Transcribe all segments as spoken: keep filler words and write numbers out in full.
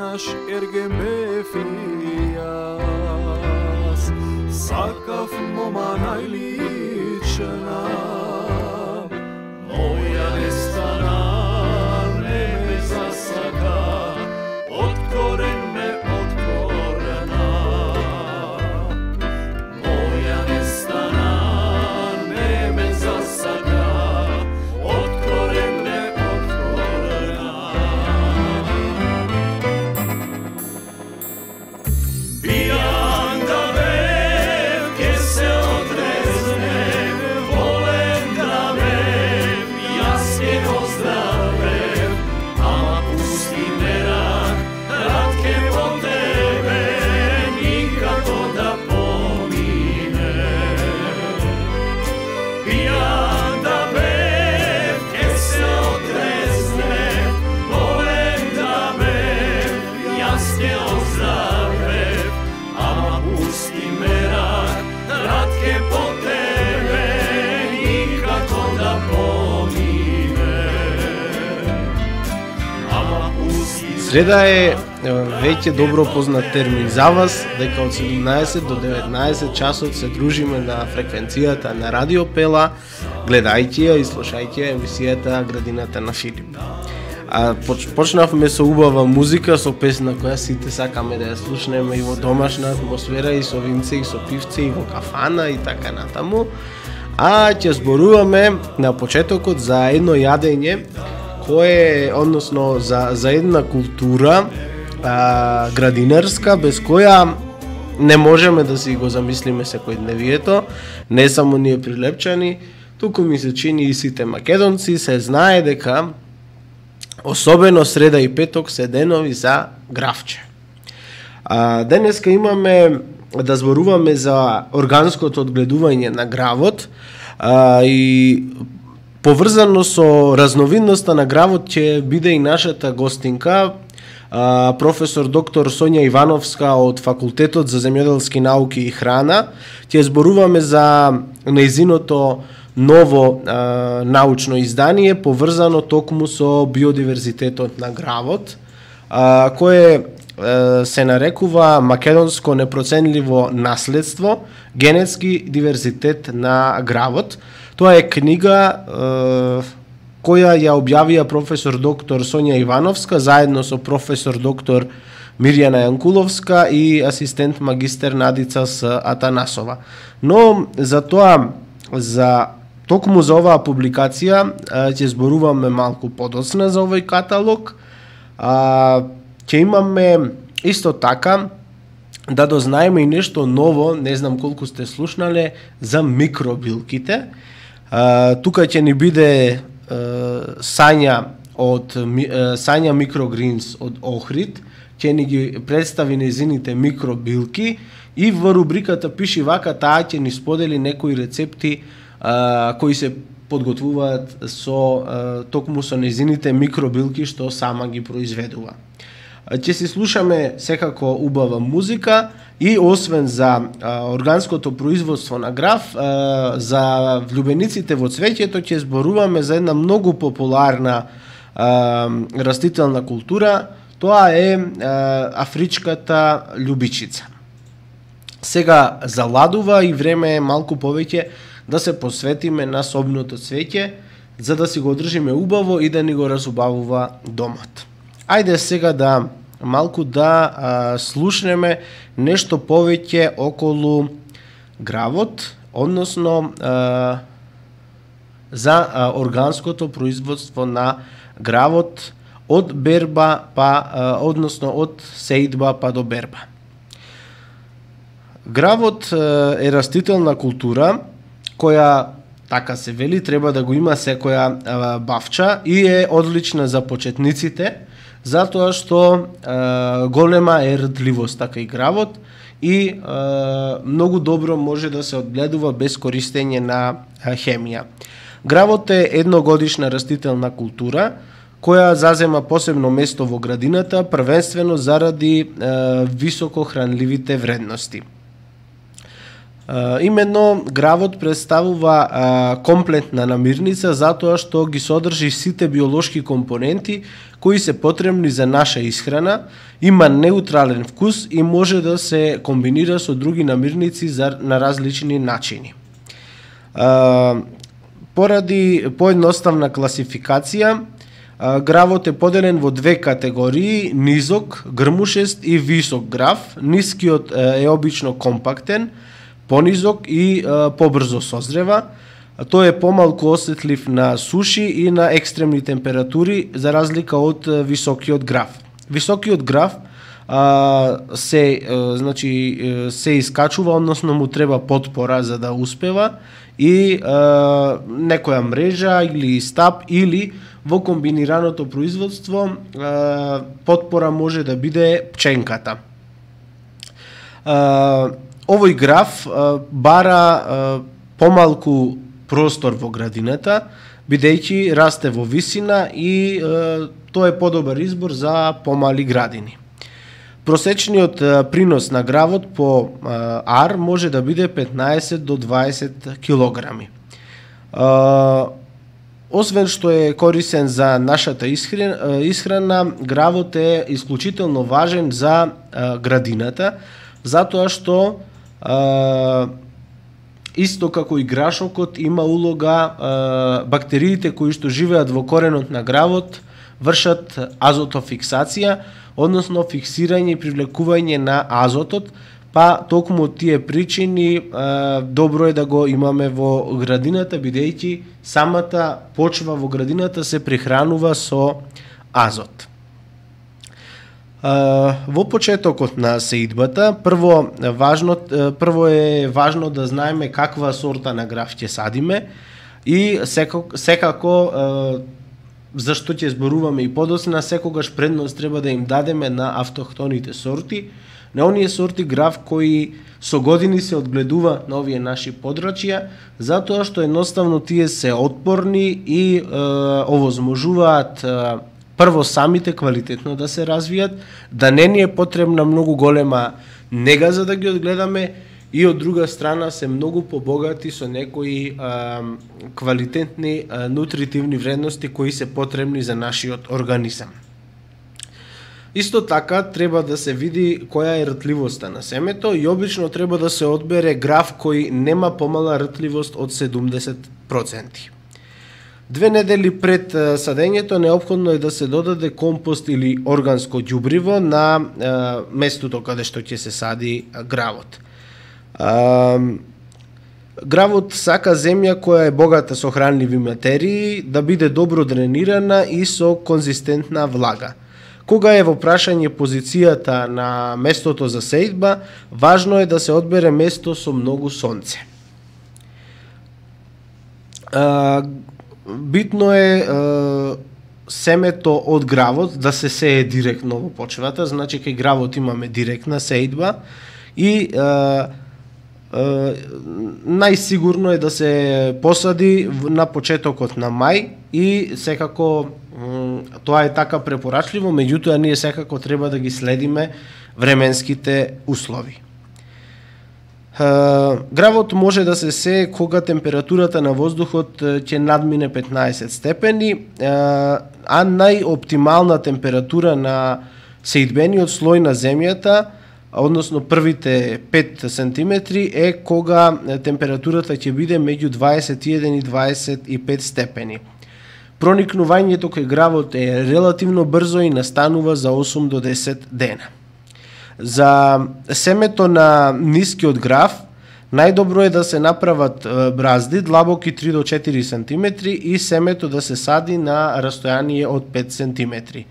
наш ергеме фијас, сакав мома најлична, моја не стана, не ме засака, од корен ме откорена. Моја не стана, не ме засака, од корен ме откорена. Пијан да бев, ке се отрезнем, волем да бев, јас ке го здравев, ама пусти ме рак, рак ке по тебе, никако да помине. Пијан да бев, ке се отрезнем, волем да бев, јас ке го здравев, ама пусти ме рак, рак ке по тебе, никако да помине. Ама пусти ме. Среда е веќе добро познат термин за вас, дека од седумнаесет до деветнаесет часот се дружиме на фреквенцијата на Радио Пела, гледајќи ја и слушајќи ја емисијата Градината на Филип. А поч, почнавме со убава музика, со песна која сите сакаме да ја слушнеме и во домашна атмосфера, и со винце, и со пивце, и во кафана, и така натаму. А ќе зборуваме на почетокот за едно јадење кое, односно за, за една култура а, градинарска, без која не можеме да си го замислиме секојдневието, не само ние прилепчани, туку ми се чини и сите македонци се знае дека особено среда и петок се денови за гравче. А, денеска имаме да зборуваме за органското одгледување на гравот, а, и поврзано со разновидноста на гравот ќе биде и нашата гостинка, а, професор доктор Сонја Ивановска од Факултетот за земјоделски науки и храна. Ќе зборуваме за нејзиното ново а, научно издание поврзано токму со биодиверзитетот на гравот, а, кое а, се нарекува Македонско непроценливо наследство, генетски диверзитет на гравот. Тоа е книга а, која ја објавија професор доктор Сонја Ивановска заедно со професор доктор Мирјана Јанкуловска и асистент магистер Надица С. Атанасова. Но за тоа, за токму за оваа публикација ќе зборуваме малку подоцна за овој каталог. А, ќе имаме исто така да дознаеме и нешто ново, не знам колку сте слушнале, за микробилките. А, тука ќе ни биде а, Сања од Сања Микрогринс од Охрид, ќе ни ги представи нејзините микробилки и во рубриката Пиши вака таа ќе ни сподели некои рецепти а, кои се подготвуваат со а, токму со нејзините микробилки што сама ги произведува. Ќе си слушаме секако убава музика и освен за а, органското производство на грав, а, за влюбениците во цвеќето ќе зборуваме за една многу популарна а, растителна култура, тоа е а, афричката љубичица. Сега заладува и време е малку повеќе да се посветиме на собното цвеќе, за да си го одржиме убаво и да ни го разубавува домот. Ајде сега да малку да а, слушнеме нешто повеќе околу гравот, односно а, за а, органското производство на гравот од берба па, а, односно од сеидба па до берба. Гравот а, е растителна култура која, така се вели, треба да го има секоја а, бавча и е одлична за почетниците, затоа што е, голема е рдливоста кај гравот и е, многу добро може да се одгледува без користење на е, хемија. Гравот е едногодишна растителна култура која зазема посебно место во градината, првенствено заради е, високо хранливите вредности. Uh, именно гравот представува uh, комплетна намирница затоа што ги содржи сите биолошки компоненти кои се потребни за наша исхрана, има неутрален вкус и може да се комбинира со други намирници за, на различни начини. Uh, поради поедноставна класификација, uh, гравот е поделен во две категории: низок, грмушест и висок грав. Нискиот uh, е обично компактен, понизок и а, побрзо созрева. Тој е помалку осетлив на суши и на екстремни температури, за разлика од а, високиот грав. Високиот грав а, се а, значи се искачува, односно му треба потпора за да успева, и а, некоја мрежа или стап, или во комбинираното производство а, потпора може да биде пченката. А, Овој грав а, бара а, помалку простор во градината, бидејќи расте во висина и а, тоа е подобар избор за помали градини. Просечниот а, принос на гравот по а, ар може да биде петнаесет до дваесет килограми. А, освен што е корисен за нашата исхрана, исхрана гравот е исклучително важен за а, градината, затоа што Uh, исто како и грашокот има улога, uh, бактериите кои што живеат во коренот на гравот вршат азотофиксација, односно фиксирање и привлекување на азотот, па токму од тие причини uh, добро е да го имаме во градината, бидејќи самата почва во градината се прехранува со азот. Uh, во почетокот на сеидбата, прво важно прво е важно да знаеме каква сорта на грав ќе садиме и секако, секако uh, зашто ќе зборуваме и подоцна, секогаш предност треба да им дадеме на автохтоните сорти, на оние сорти грав кои со години се одгледува на овие наши подрачја, затоа што едноставно тие се отпорни и uh, овозможуваат uh, прво самите квалитетно да се развијат, да не ни е потребна многу голема нега за да ги одгледаме, и од друга страна се многу побогати со некои а, квалитетни а, нутритивни вредности кои се потребни за нашиот организам. Исто така треба да се види која е ртливоста на семето и обично треба да се одбере грав кој нема помала ртливост од седумдесет проценти. Две недели пред садењето неопходно е да се додаде компост или органско ѓубриво на е, местото каде што ќе се сади гравот. Е, гравот сака земја која е богата со хранливи материи, да биде добро дренирана и со конзистентна влага. Кога е во прашање позицијата на местото за сеидба, важно е да се одбере место со многу сонце. Е, Битно е, е семето од гравот да се сее директно во почвата, значи кај гравот имаме директна сеидба и е, е, најсигурно е да се посади на почетокот на мај и секако тоа е така препорачливо, меѓутоа ние секако треба да ги следиме временските услови. Uh, гравот може да се сее кога температурата на воздухот ќе надмине петнаесет степени, uh, а најоптимална температура на сеидбениот слој на земјата, односно првите пет сантиметри, е кога температурата ќе биде меѓу дваесет и еден и дваесет и пет степени. Проникнувањето кај гравот е релативно брзо и настанува за осум до десет дена. За семето на нискиот грав, најдобро е да се направат бразди длабоки три до четири сантиметри и семето да се сади на растојание од пет сантиметри.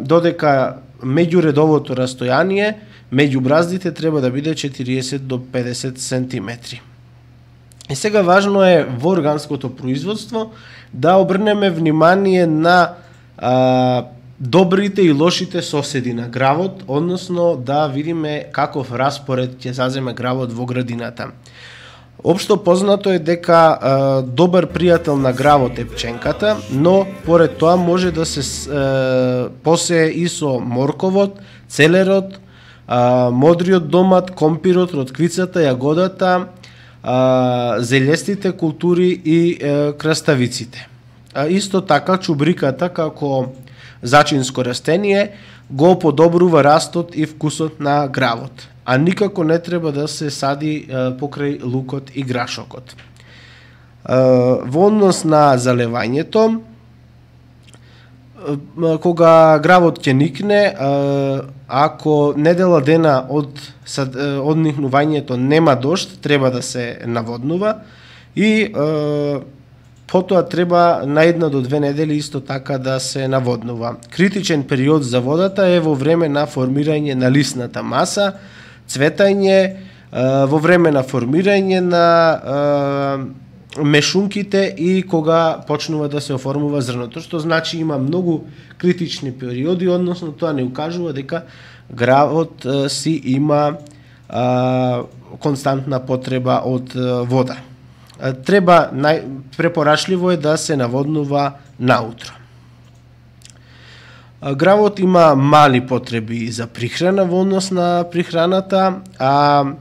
Додека меѓуредовото растојание меѓу браздите треба да биде четириесет до педесет сантиметри. И сега важно е во органското производство да обрнеме внимание на а, добрите и лошите соседи на гравот, односно да видиме каков распоред ќе заземе гравот во градината. Општо познато е дека а, добар пријател на гравот е пченката, но поред тоа може да се а, посее и со морковот, целерот, а, модриот домат, компирот, ротквицата, јагодата, а, зелестите култури и е, краставиците. А, исто така чубриката како зачинско растение го подобрува растот и вкусот на гравот, а никако не треба да се сади е, покрај лукот и грашокот. Е, во однос на залевањето, е, кога гравот ќе никне, е, ако недела дена од, од никнувањето нема дожд, треба да се наводнува и е, потоа треба на една до две недели исто така да се наводнува. Критичен период за водата е во време на формирање на лисната маса, цветање, во време на формирање на мешунките и кога почнува да се оформува зрното, што значи има многу критични периоди, односно тоа не укажува дека гравот си има константна потреба од вода. Треба, нај, препорачливо е да се наводнува наутро. Гравот има мали потреби за прихрана во однос на прихраната, а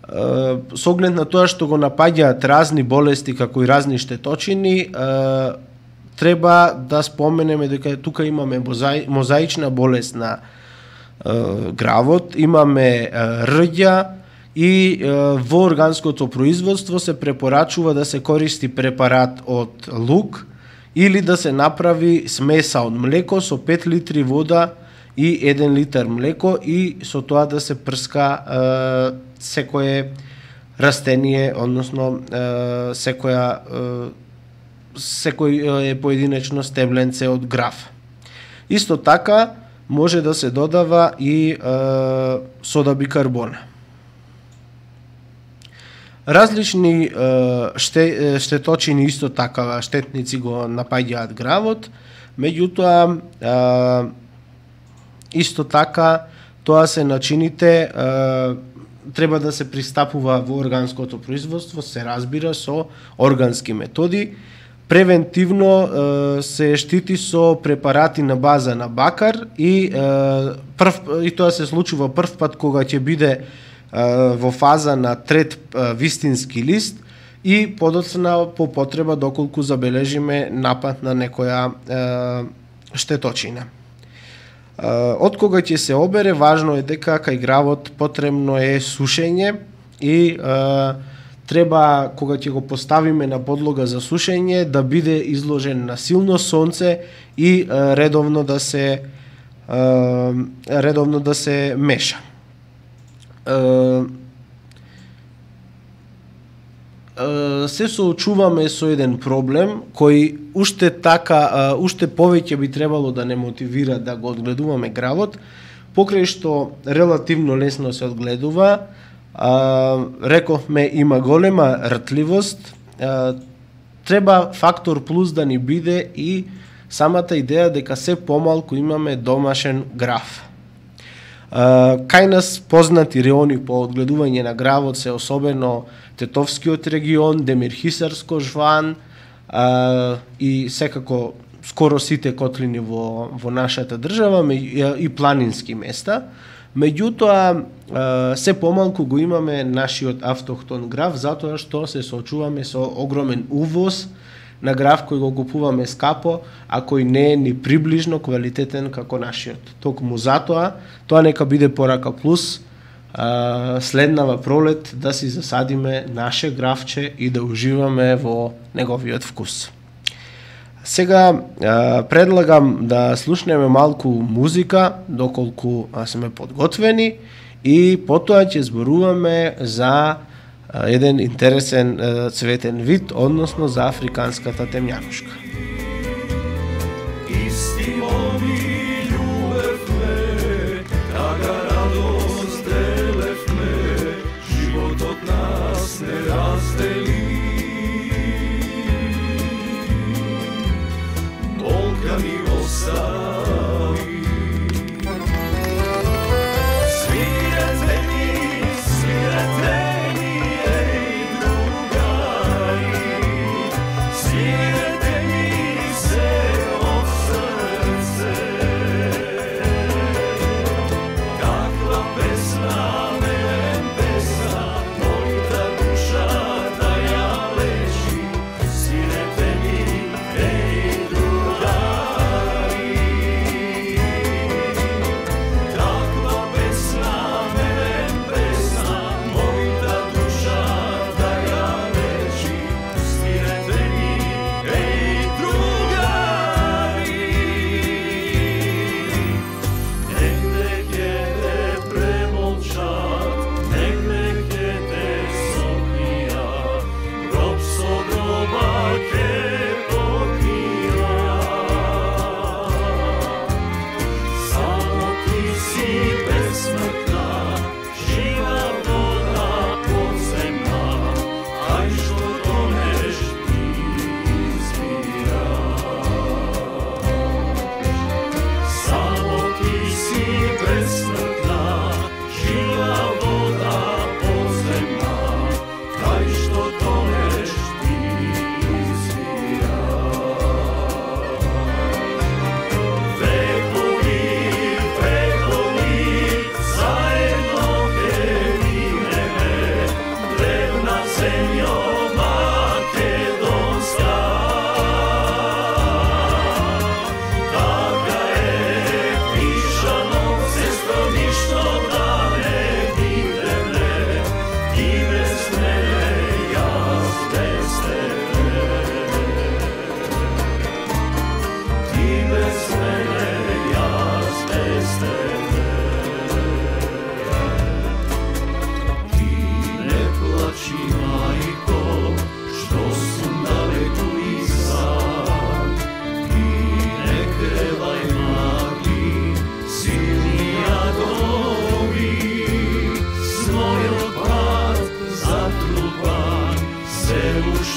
со оглед на тоа што го напаѓаат разни болести како и разни штеточини, треба да споменеме дека тука имаме мозаична болест на гравот, имаме рѓа, и е, во органското производство се препорачува да се користи препарат од лук или да се направи смеса од млеко со пет литри вода и еден литар млеко и со тоа да се прска е, секое растение, односно е, секоја е, секој е поединечно стебленце од грав. Исто така може да се додава и е, сода бикарбона. Различни е, ште, штеточини исто така штетници го напаѓаат гравот, меѓутоа е, исто така тоа се начините е, треба да се пристапува во органското производство, се разбира со органски методи. Превентивно е, се штити со препарати на база на бакар и е, прв, и тоа се случува прв пат кога ќе биде во фаза на трет вистински лист и подоцна по потреба доколку забележиме напад на некоја е, штеточина. Е, од кога ќе се обере, важно е дека кај гравот потребно е сушење и е, треба кога ќе го поставиме на подлога за сушење да биде изложен на силно сонце и е, редовно да се е, редовно да се меша. Се соочуваме со еден проблем кој уште така, уште повеќе би требало да не мотивира да го одгледуваме гравот, покрај што релативно лесно се одгледува, рековме има голема ртливост, треба фактор плюс да ни биде и самата идеја дека се помалку имаме домашен грав. Uh, кај нас познати реони по одгледување на гравот се особено Тетовскиот регион, Демирхисарско жван uh, и секако скоро сите котлини во, во нашата држава и планински места. Меѓутоа, uh, се помалку го имаме нашиот автохтон грав, затоа што се соочуваме со огромен увоз на грав кој го купуваме скапо, а кој не е ни приближно квалитетен како нашиот. Токму затоа, тоа нека биде порака плюс, а, следнава пролет да си засадиме наше гравче и да уживаме во неговиот вкус. Сега а, предлагам да слушнеме малку музика, доколку а, сме подготвени, и потоа ќе зборуваме за еден интересен цветен вид, односно за африканската темјанушка. Истимо ми љубевме, тага радост делевме, животот нас не раздели. Болка ми остави. Свирете ми, свирете ми, Свирете ми,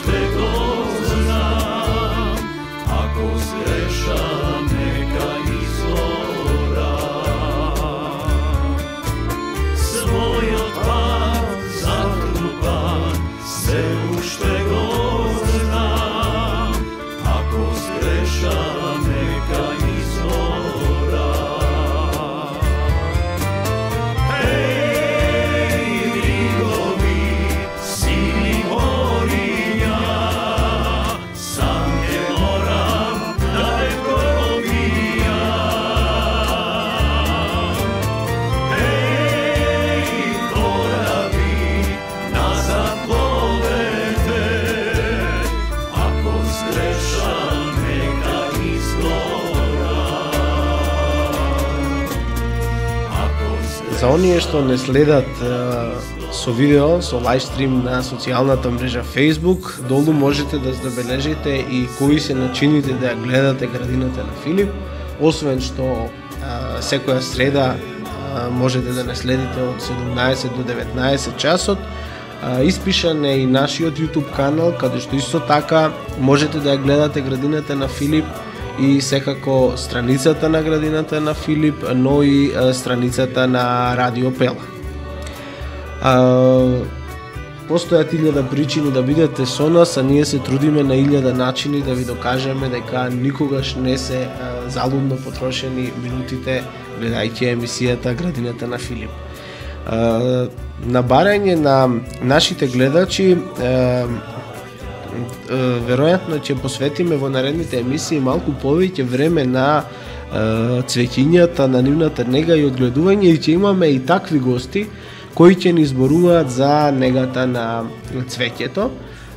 уште го знам, ако сгрешам нека изорам. Својот пат затрупан, се уште го знам, ако сгрешам нека изорам. Еј, бригови, сини мориња, сам ќе морам да ве пробијам. Еј, кораби, назад пловете, ако сгрешам нека изгорам. Ако За оние што не следат е, со видео, со лајвстрим на социјалната мрежа Facebook, долу можете да забележите и кои се начините да ја гледате градината на Филип, освен што е, секоја среда е, можете да не следите од седумнаесет до деветнаесет часот. Е, Испишан е и нашиот YouTube канал, каде што исто така можете да ја гледате градината на Филип и секако страницата на градината на Филип, но и е, страницата на Радио Пела. А, постојат илјада причини да бидете со нас, а ние се трудиме на илјада начини да ви докажеме дека никогаш не се а, залудно потрошени минутите гледајќи емисијата Градината на Филип. А, на барање на нашите гледачи, а, веројатно ќе посветиме во наредните емисии малку повеќе време на е, цвеќињата, на нивната нега и одгледување, и ќе имаме и такви гости кои ќе ни зборуваат за негата на цвеќето.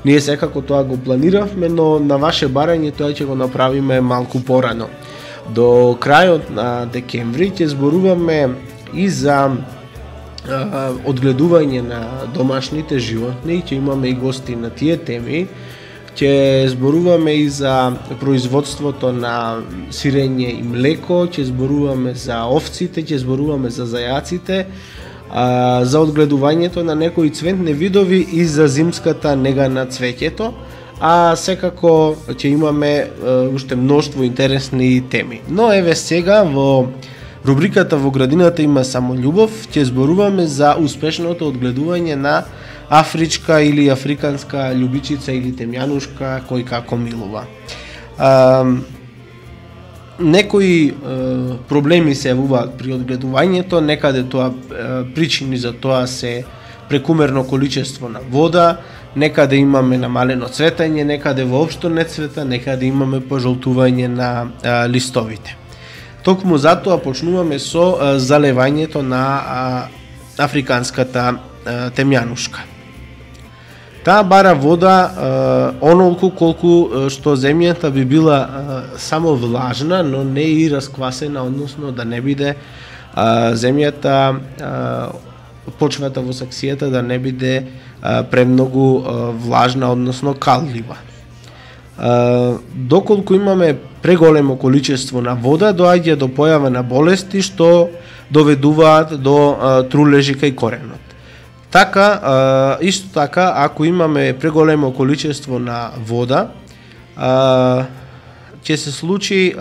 Ние секако тоа го планиравме, но на ваше барање тоа ќе го направиме малку порано. До крајот на декември ќе зборуваме и за одгледување на домашните животни, ќе имаме и гости на тие теми. Ќе зборуваме и за производството на сирење и млеко, ќе зборуваме за овците, ќе зборуваме за зајаците, за одгледувањето на некои цветни видови и за зимската нега на цвеќето, а секако ќе имаме уште мноштво интересни теми. Но еве сега во рубриката Во градината има само љубов, ќе зборуваме за успешното одгледување на афричка или африканска љубичица или темјанушка, кој како милува. А, некои е, проблеми се јавуваат при одгледувањето, некаде тоа е, причини за тоа се прекумерно количество на вода, некаде имаме намалено цветање, некаде воопшто не цвета, некаде имаме пожолтување на е, листовите. Токму затоа почнуваме со е, залевањето на е, африканската е, темјанушка. Таа бара вода е, онолку колку што земјата би била е, само влажна, но не и расквасена, односно да не биде е, земјата, е, почвата во саксијата да не биде е, премногу е, влажна, односно каллива. Е, доколку имаме преголемо количество на вода, доаѓа до појава на болести што доведуваат до е, трулежи кај коренот. Така, исто така, ако имаме преголемо количество на вода, ќе се случи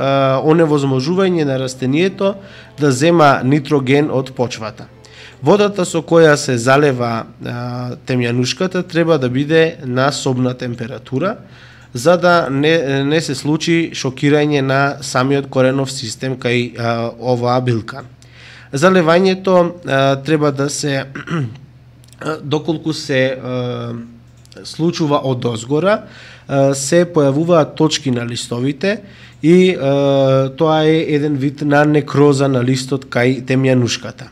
оневозможување на растението да зема нитроген од почвата. Водата со која се залева темјанушката треба да биде на собна температура, за да не, не се случи шокирање на самиот коренов систем кај оваа билка. Залевањето треба да се доколку се е, случува од озгора, е, се појавуваат точки на листовите и е, тоа е еден вид на некроза на листот кај темјанушката.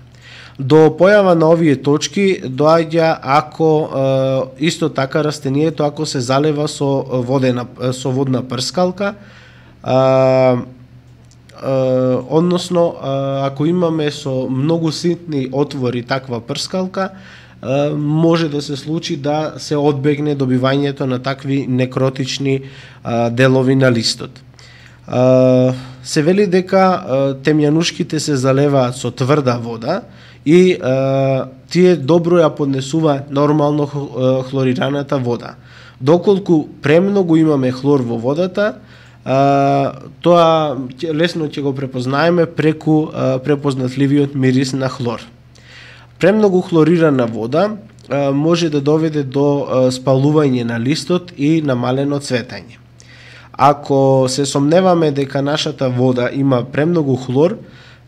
До појава на овие точки доаѓа ако е, исто така растението ако се залева со водена со водна прскалка, е, е, односно е, ако имаме со многу ситни отвори таква прскалка, може да се случи да се одбегне добивањето на такви некротични а, делови на листот. А, се вели дека а, темјанушките се залеваат со тврда вода и а, тие добро ја поднесуваат нормално хлорираната вода. Доколку премногу имаме хлор во водата, а, тоа лесно ќе го препознаеме преку а, препознатливиот мирис на хлор. Премногу хлорирана вода а, може да доведе до а, спалување на листот и намалено цветање. Ако се сомневаме дека нашата вода има премногу хлор,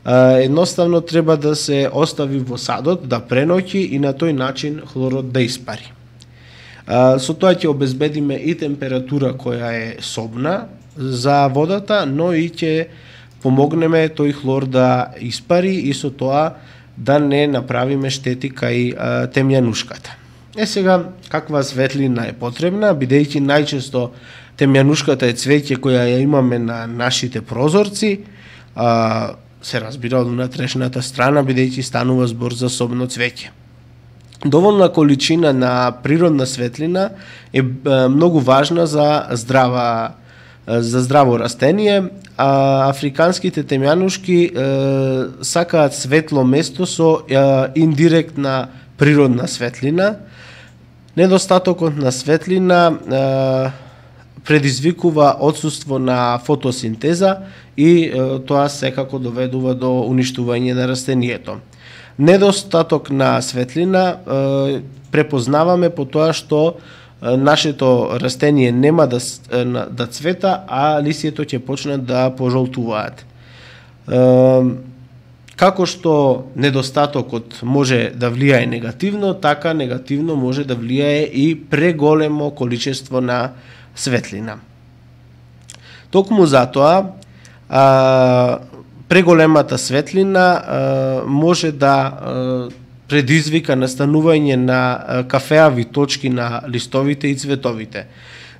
едноставно треба да се остави во садот, да преноќи и на тој начин хлорот да испари. Со тоа ќе обезбедиме и температура која е собна за водата, но и ќе помогнеме тој хлор да испари и со тоа да не направиме штети кај темјанушката. Е сега, каква светлина е потребна, бидејќи најчесто темјанушката е цвеќе која ја имаме на нашите прозорци, а, се разбира од внатрешната страна, бидејќи станува збор за собно цвеќе. Доволна количина на природна светлина е многу важна за здрава за здраво растение, а африканските темјанушки е, сакаат светло место со е, индиректна природна светлина. Недостатокот на светлина е, предизвикува отсуство на фотосинтеза и е, тоа секако доведува до уништување на растението. Недостаток на светлина е, препознаваме по тоа што е, нашето растение нема да, да цвета, а лисието ќе почнат да пожолтуваат. Е, како што недостатокот може да влијае негативно, така негативно може да влијае и преголемо количество на светлина. Токму затоа, а, преголемата светлина а, може да а, предизвика настанување на а, кафеави точки на листовите и цветовите.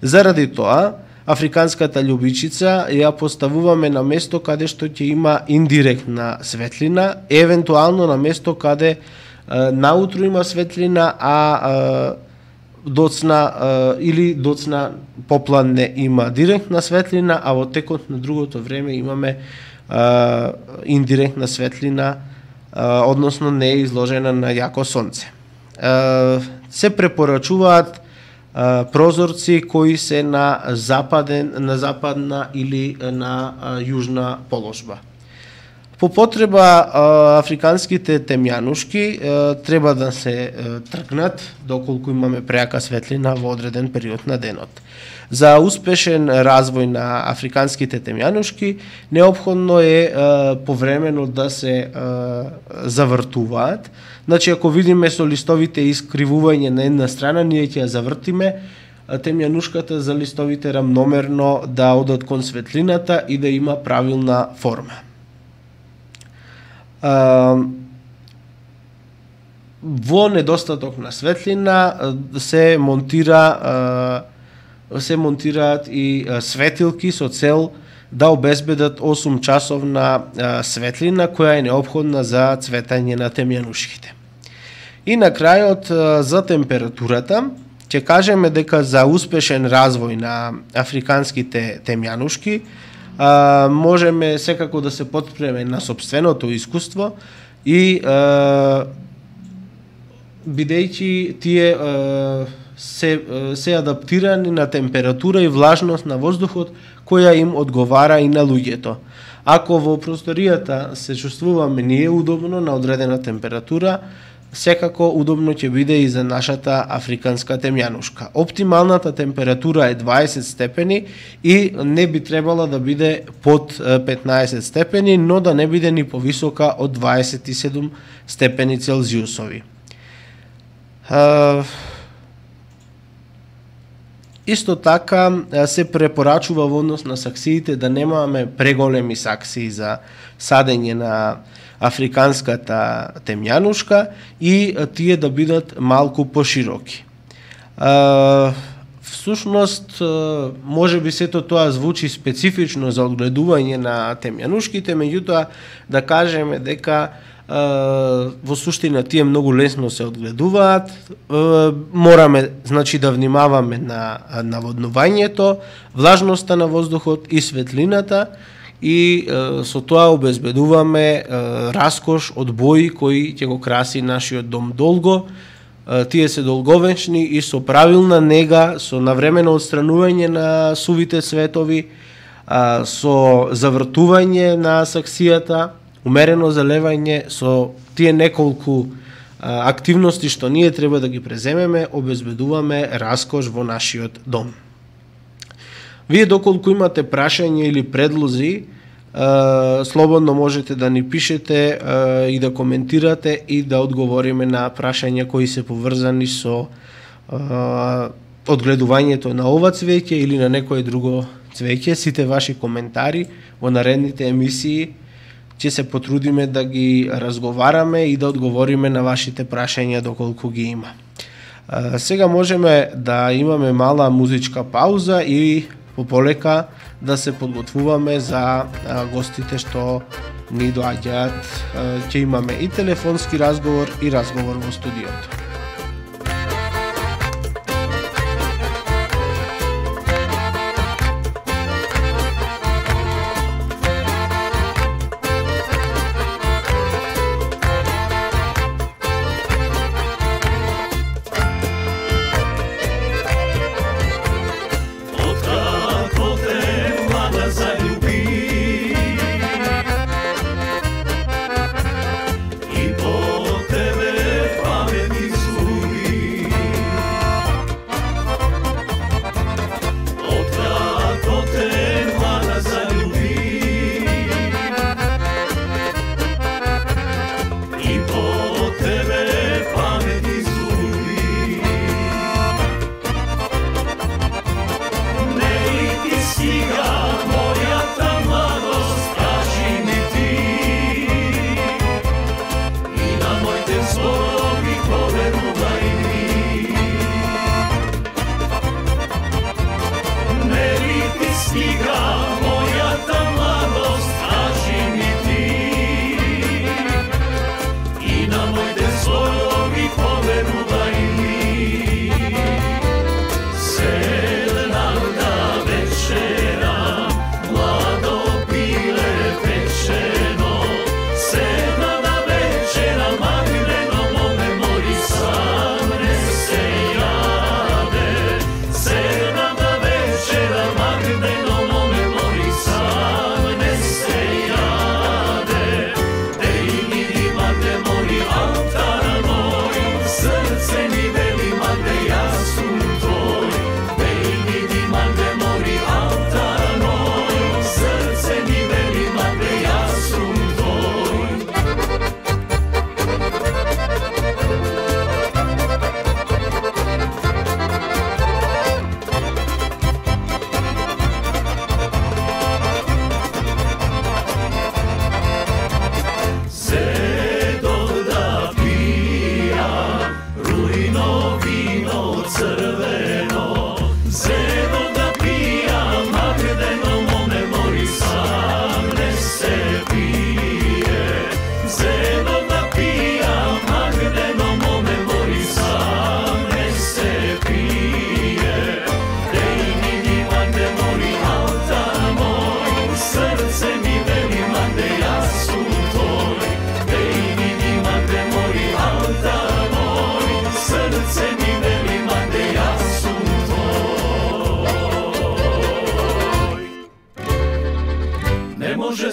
Заради тоа, африканската љубичица ја поставуваме на место каде што ќе има индиректна светлина, евентуално на место каде а, наутро има светлина, а, а доцна а, или доцна попладне има директна светлина, а во текот на другото време имаме а, индиректна светлина, а, односно не е изложена на јако сонце. А, се препорачуваат а, прозорци кои се на западен, на западна или на а, јужна положба. По потреба африканските темјанушки треба да се тргнат доколку имаме преака светлина во одреден период на денот. За успешен развој на африканските темјанушки неопходно е повремено да се завртуваат. Значи, ако видиме со листовите искривување на една страна, ние ќе ја завртиме темјанушката за листовите рамномерно да одат кон светлината и да има правилна форма. Во недостаток на светлина се монтира се монтираат и светилки со цел да обезбедат осум часовна светлина која е неопходна за цветање на темјанушките. И на крајот за температурата ќе кажеме дека за успешен развој на африканските темјанушки А, можеме секако да се потпреме на собственото искуство и а, бидејќи тие а, се, се адаптирани на температура и влажност на воздухот која им одговара и на луѓето. Ако во просторијата се чувствуваме ние удобно на одредена температура, секако удобно ќе биде и за нашата африканска темјанушка. Оптималната температура е дваесет степени и не би требала да биде под петнаесет степени, но да не биде ни повисока од дваесет и седум степени Целзиусови. Исто така се препорачува во однос на саксиите да немаме преголеми саксии за садење на африканската темјанушка и тие да бидат малку пошироки. Всушност, може би сето тоа звучи специфично за одгледување на темјанушките, меѓутоа да кажеме дека во суштина тие многу лесно се одгледуваат. Мораме, значи, да внимаваме на наводнувањето, влажноста на воздухот и светлината, и е, со тоа обезбедуваме е, раскош од бои кои ќе го краси нашиот дом долго, тие се долговечни и со правилна нега, со навремено отстранување на сувите цветови, со завртување на саксијата, умерено залевање, со тие неколку активности што ние треба да ги преземеме, обезбедуваме раскош во нашиот дом. Вие доколку имате прашања или предлози, слободно можете да ни пишете и да коментирате и да одговориме на прашања кои се поврзани со одгледувањето на ова цвеќе или на некое друго цвеќе. Сите ваши коментари во наредните емисии ќе се потрудиме да ги разговараме и да одговориме на вашите прашања доколку ги има. Сега можеме да имаме мала музичка пауза и пополека да се подготвуваме за гостите што ни доаѓаат. Ќе имаме и телефонски разговор и разговор во студиото.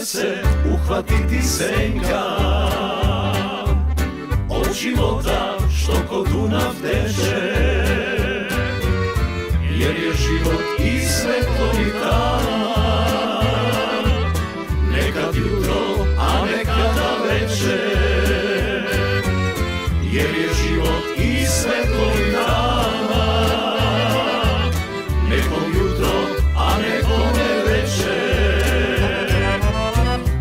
se uhvatiti senka od života što ko Dunav teče, jer je život i svetlovi dan, nekad jutro, a nekada večer, jer je život i svetlovi dan, nekom jutro, a nekome večer.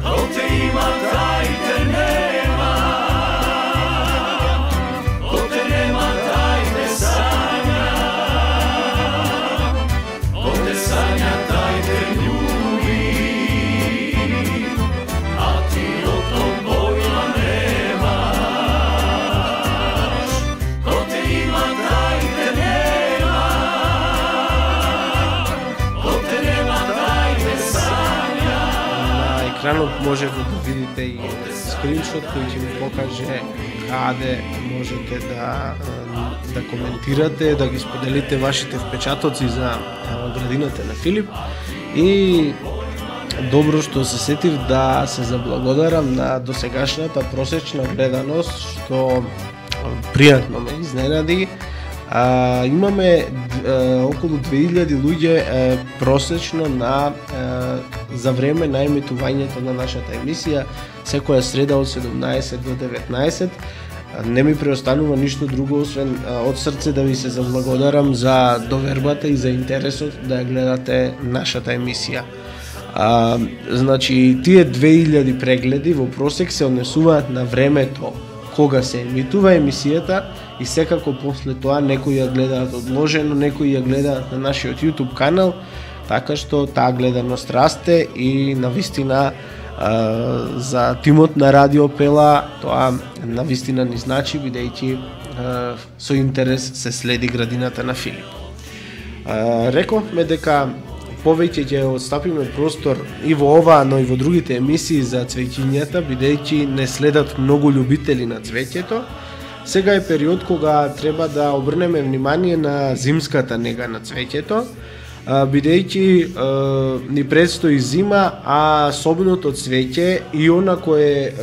Ko te ima, taj te nema, ko te nema, taj te sanja, ko te sanja, taj te ljubi, a ti od tog pojma nemaš. Ko te ima, taj te nema, ko te nema, taj te sanja. На екранот можете да видите и скриншот кој ќе ви покаже каде можете да да коментирате, да ги споделите вашите впечатоци за градината на Филип. И добро што се сетив да се заблагодарам на досегашната просечна гледаност, што пријатно ме изненади. А, имаме а, околу две илјади луѓе а, просечно на а, за време на емитувањето на нашата емисија секоја среда од седумнаесет до деветнаесет. Не ми преостанува ништо друго освен а, од срце да ви се заблагодарам за довербата и за интересот да ја гледате нашата емисија. А, значи тие две илјади прегледи во просек се однесуваат на времето кога се емитува емисијата и секако после тоа некои ја гледаат одложено, некои ја гледаат на нашиот YouTube канал, така што таа гледаност расте и навистина а, за тимот на Радио Пела тоа навистина ни значи, бидејќи со интерес се следи градината на Филип. А, рековме дека повеќе ќе отстапиме простор и во ова, но и во другите емисии за цвеќињата, бидејќи не следат многу љубители на цвеќето. Сега е период кога треба да обрнеме внимание на зимската нега на цвеќето, бидејќи ни предстои зима, а собното цвеќе и она кое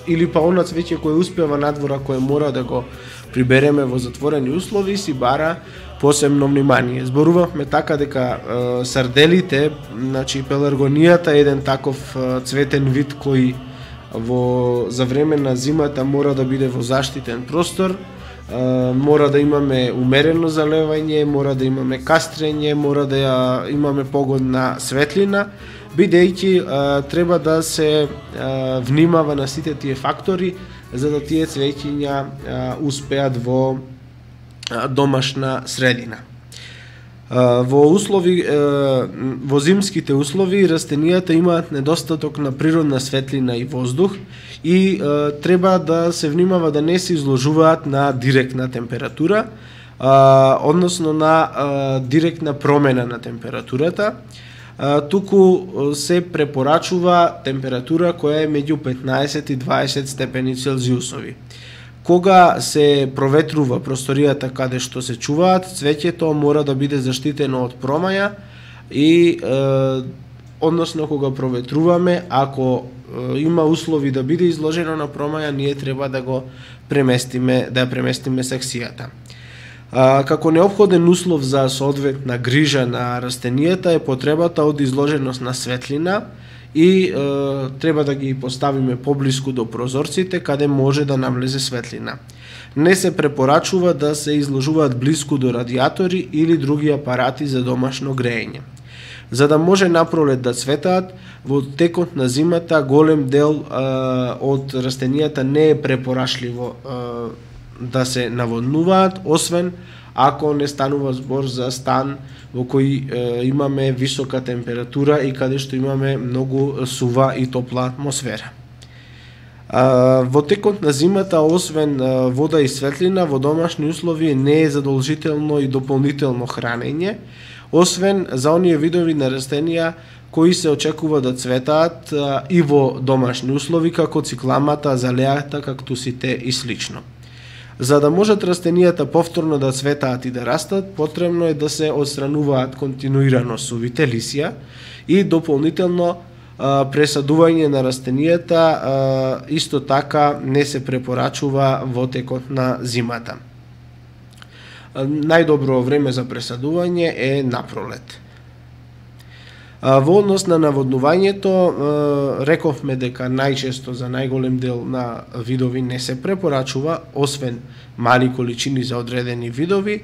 или па она цвеќе кое успева надвора, кое мора да го прибереме во затворени услови, си бара посебно внимание. Зборувавме така дека е, сарделите, значи пеларгонијата е еден таков е, цветен вид кој во за време на зимата мора да биде во заштитен простор, е, мора да имаме умерено залевање, мора да имаме кастрење, мора да ја имаме погодна светлина, бидејќи треба да се е, внимава на сите тие фактори за да тие цвеќиња е, успеат во домашна средина. Во услови во зимските услови растенијата имаат недостаток на природна светлина и воздух и треба да се внимава да не се изложуваат на директна температура, односно на директна промена на температурата. Туку се препорачува температура која е меѓу петнаесет и дваесет степени Целзиусови. Кога се проветрува просторијата каде што се чуваат, цвеќето мора да биде заштитено од промаја и е, односно кога проветруваме, ако е, има услови да биде изложено на промаја, ние треба да го преместиме, да ја преместиме секцијата. А, како неопходен услов за соодветна грижа на растенијата е потребата од изложеност на светлина и е, треба да ги поставиме поблиску до прозорците каде може да навлезе светлина. Не се препорачува да се изложуваат блиску до радиатори или други апарати за домашно грејење. За да може напролет да цветаат, во текот на зимата голем дел е, од растенијата не е препорашливо е, да се наводнуваат, освен ако не станува збор за стан во кој е, имаме висока температура и каде што имаме многу сува и топла атмосфера. А, во текот на зимата, освен а, вода и светлина, во домашни услови не е задолжително и дополнително хранење, освен за оние видови на растенија кои се очекува да цветаат а, и во домашни услови, како цикламата, азалејата, кактусите и слично. За да можат растенијата повторно да цветаат и да растат, потребно е да се отстрануваат континуирано сувите лисја и дополнително а, пресадување на растенијата а, исто така не се препорачува во текот на зимата. А, најдобро време за пресадување е напролет. Во однос на наводнувањето, рековме дека најчесто за најголем дел на видови не се препорачува, освен мали количини за одредени видови,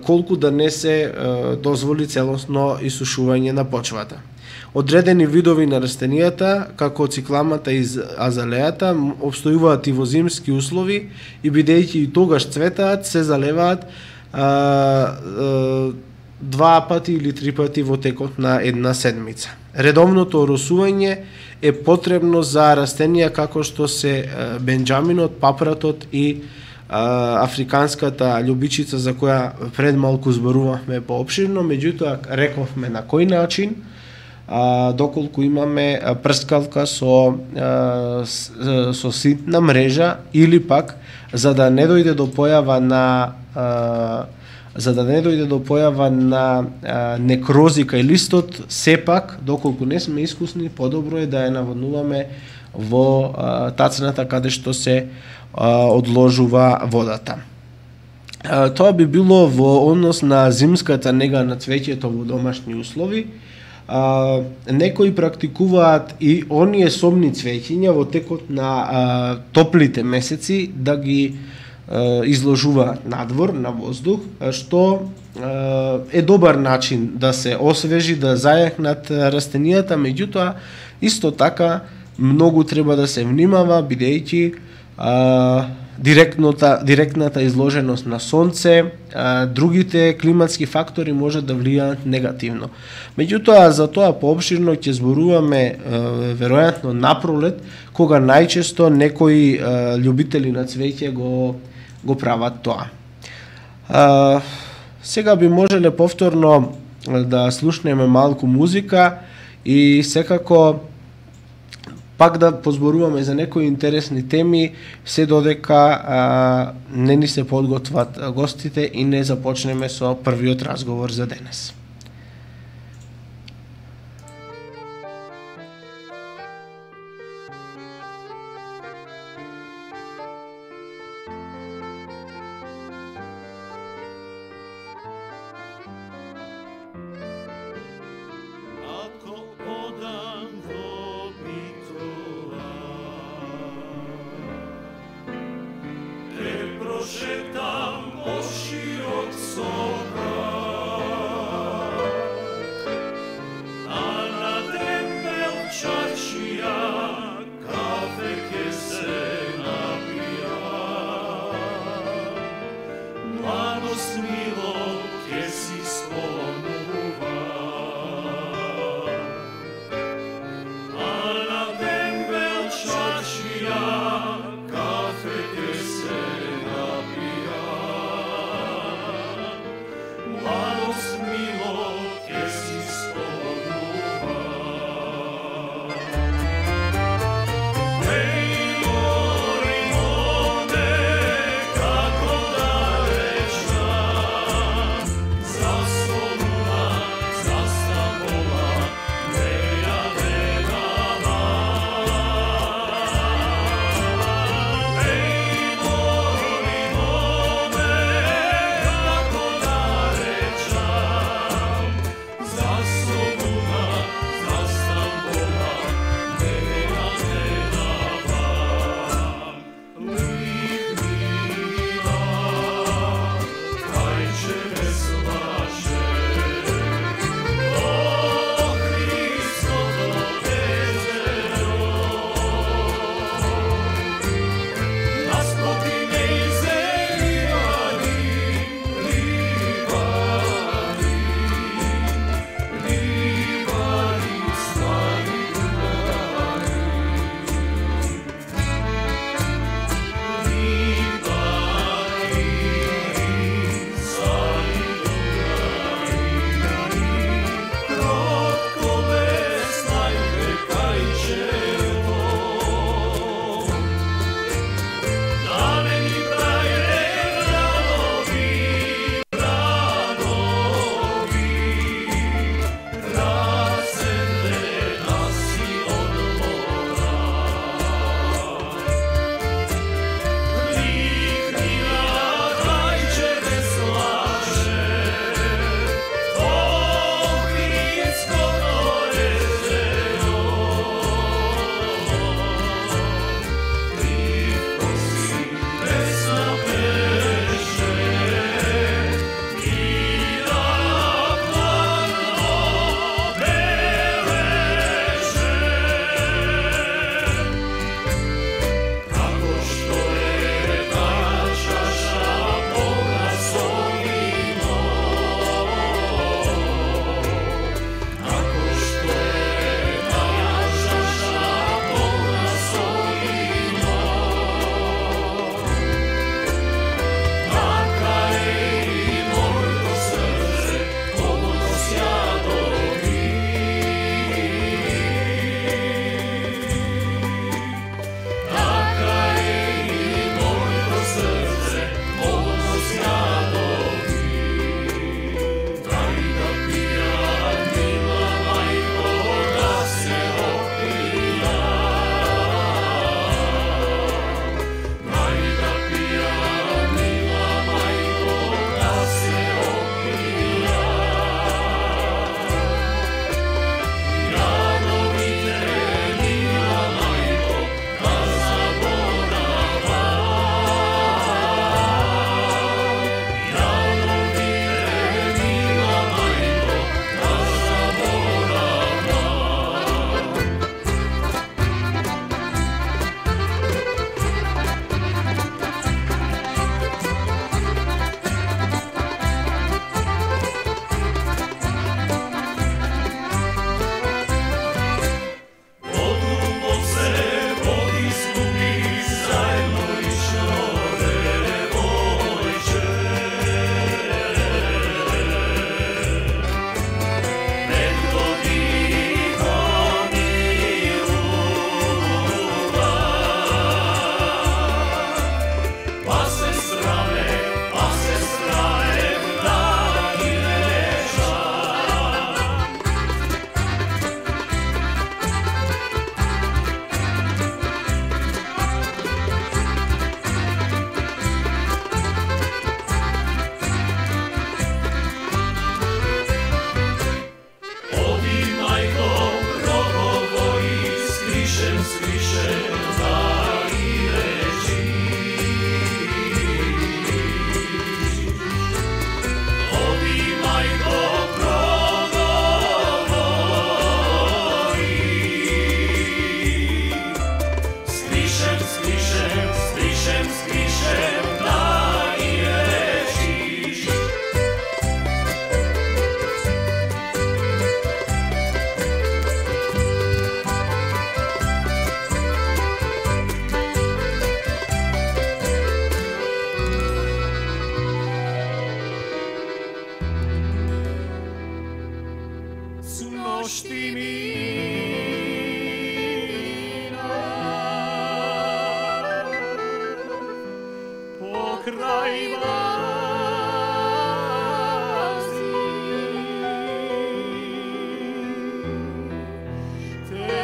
колку да не се дозволи целосно исушување на почвата. Одредени видови на растенијата, како цикламата и азалејата, обстојуваат и во зимски услови и бидејќи и тогаш цветаат, се залеваат а, а, два пати или три пати во текот на една седмица. Редовното оросување е потребно за растенија како што се бенџаминот, папратот и а, африканската љубичица за која пред малку зборувавме поопширно, меѓутоа рековме на кој начин. а, доколку имаме прскалка со а, со ситна мрежа, или пак за да не дојде до појава на а, за да не дојде до појава на а, некрози кај листот, сепак доколку не сме искусни, подобро е да ја наводнуваме во а, тацната каде што се а, одложува водата. А, тоа би било во однос на зимската нега на цвеќето во домашни услови. А, некои практикуваат и оние собни цвеќиња во текот на а, топлите месеци да ги а, изложуваат надвор на воздух, што а, е добар начин да се освежи, да зајахнат растенијата, меѓутоа исто така многу треба да се внимава, бидејќи а, директната директната изложеност на сонце, а, другите климатски фактори може да влијаат негативно. Меѓутоа, за тоа поопширно ќе зборуваме а, веројатно напролет, кога најчесто некои а, љубители на цвеќе го го прават тоа. А, сега би можеле повторно да слушнеме малку музика и секако пак да позборуваме за некои интересни теми, се додека а, не ни се подготват гостите и не започнеме со првиот разговор за денес. Prošetam po širok soka, ношти мина, покрај вази, те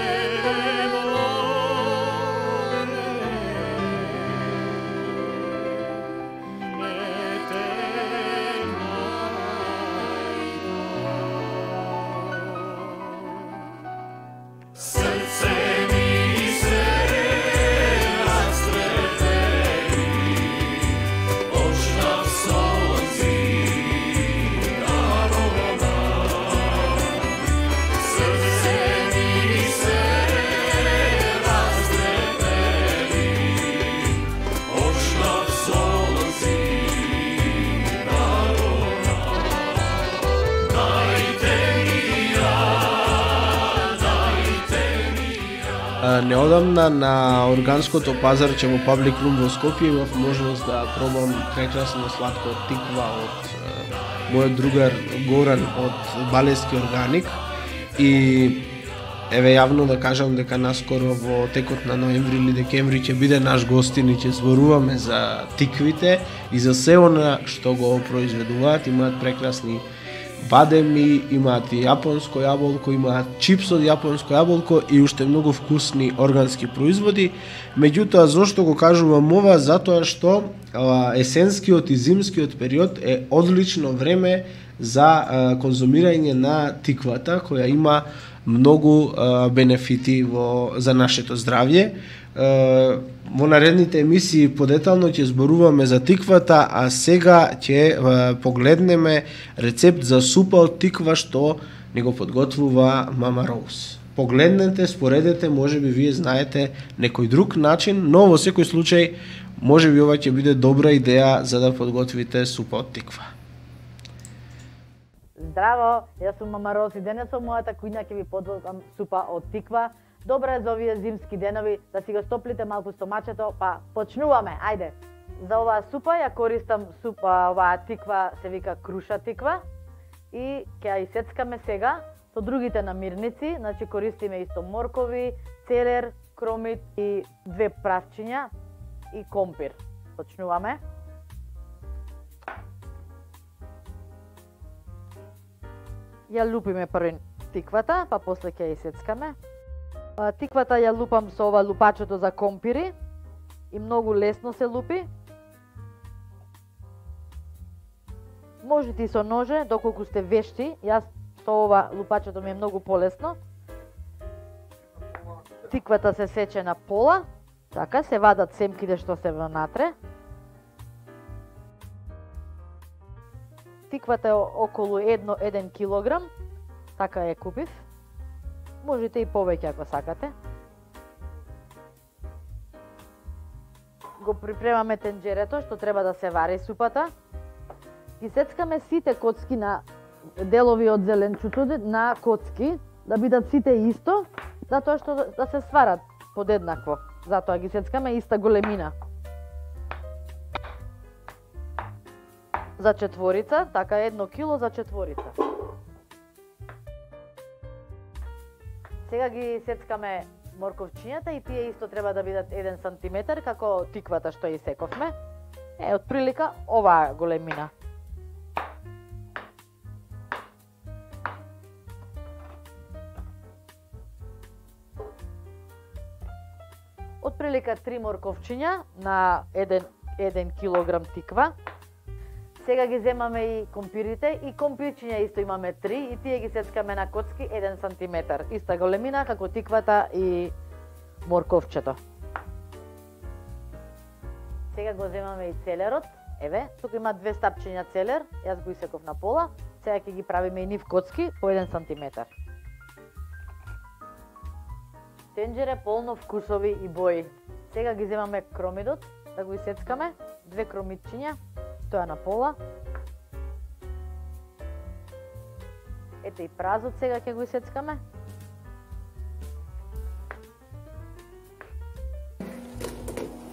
Неодамна на органското пазарче во Паблик Рум во Скопје имав можност да пробам прекрасно сладко тиква од е, мојот другар Горан од Балески органик и еве јавно да кажам дека наскоро во текот на ноември или декември ќе биде наш гостин и ќе зборуваме за тиквите и за се она што го произведуваат. Имаат прекрасни бадеми, имаат и јапонско јаболко, имаат чипс од јапонско јаболко и уште многу вкусни органски производи. Меѓутоа, зошто го кажувам ова? Затоа што а, есенскиот и зимскиот период е одлично време за а, конзумирање на тиквата, која има многу а, бенефити во, за нашето здравје. Uh, во наредните емисии подетално ќе зборуваме за тиквата, а сега ќе uh, погледнеме рецепт за супа од тиква што ни го подготвува мама Роуз. Погледнете, споредете, може би вие знаете некој друг начин, но во секој случај може би ова ќе биде добра идеја за да подготвите супа од тиква. Здраво, јас сум мама Роуз и денес во мојата кујна ќе ви подготвам супа од тиква. Добра е за овие зимски денови да си го стоплите малку стомачето, па почнуваме, ајде. За оваа супа ја користам супа, оваа тиква се вика круша тиква и ќе ја исецкаме сега со другите намирници, значи користиме исто моркови, целер, кромит и две правчиња и компир. Почнуваме. Ја лупиме прво тиквата, па после ќе ја исецкаме. Тиквата ја лупам со ова лупачето за компири и многу лесно се лупи. Можете и со ноже, доколку сте вешти. Јас со ова лупачето ми е многу полесно. Тиквата се сече на пола, така се вадат семките што се внатре. Тиквата е околу еден килограм, така ја купив. Можете и повеќе ако сакате. Го припремаме тенџерето што треба да се вари супата. Ги сецкаме сите коцки на делови од зеленчуто на коцки, да бидат сите исто, затоа што да се сварат подеднакво. Затоа ги сецкаме иста големина. За четворица, така едно кило за четворица. Сега ги сецкаме морковчињата и тие исто треба да бидат еден сантиметар како тиквата што ја сековме. Е, од прилика оваа големина. Од прилика три морковчиња на еден килограм тиква. Сега ги земаме и компирите и компирчиња исто имаме три и тие ги сецкаме на коцки еден сантиметар. Иста големина како тиквата и морковчето. Сега го земаме и целерот. Еве, тука има две стапчиња целер, јас го исеков на пола. Сега ќе ги правиме и нив коцки по еден сантиметар. Тенџере полно вкусови и бои. Сега ги земаме кромидот, да го исецкаме, две кромидчиња, тоа на пола. Ете и празот сега ќе го исецкаме.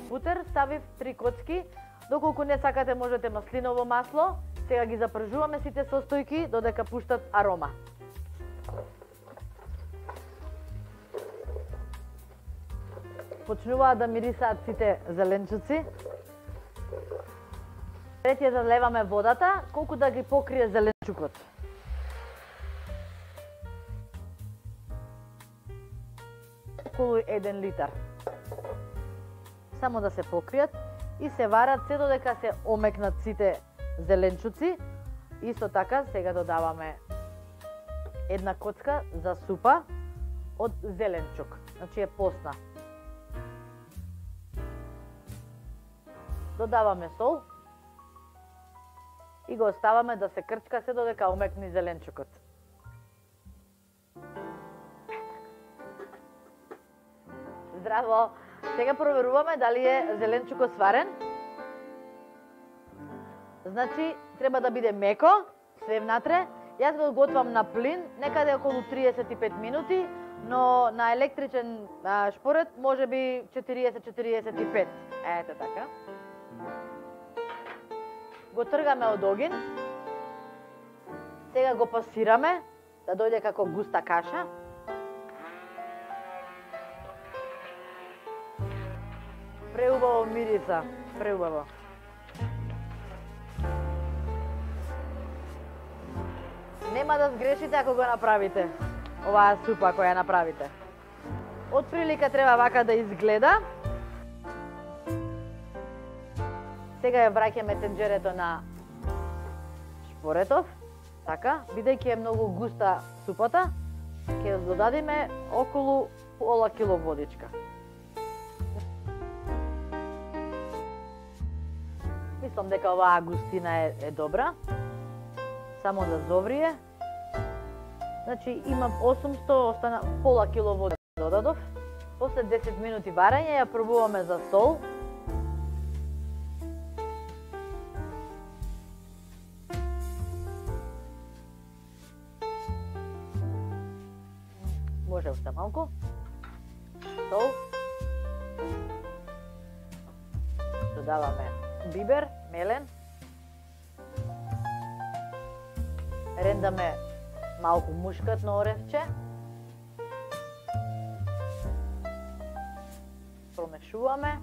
Путер ставив три коцки, доколку не сакате можете маслиново масло. Сега ги запржуваме сите состојки додека пуштат арома. Почнуваат да мирисаат сите зеленчуци. Пред ја заливаме водата, колку да ги покрие зеленчукот. Околу еден литар. Само да се покријат и се варат се додека се омекнат сите зеленчуци. Исто така сега додаваме една коцка за супа од зеленчук, значи е посна. Додаваме сол и го оставаме да се крчка се додека омекне зеленчукот. Здраво! Сега проверуваме дали е зеленчукот сварен. Значи, треба да биде меко, све внатре. Јас го готвам на плин, некаде околу триесет и пет минути, но на електричен а, шпоред може би четириесет до четириесет и пет. Ете така. Го тргаме од огин. Сега го пасираме да дојде како густа каша. Преубаво мириса, преубаво. Нема да сгрешите ако го направите, оваа супа која ја направите. Од прилика треба вака да изгледа. Сега ја враќаме тенџерето на шпоретов. Така, бидејќи е многу густа супата, ќе додадиме околу пола кило водичка. Мислам дека оваа густина е, е добра. Само да зоврие. Значи имам осумсто, остана пола кило вода додадов. После десет минути варење ја пробуваме за сол. Може уште малку. Сол. Додаваме бибер, мелен. Рендаме малку мушкатно оревче. Промешуваме.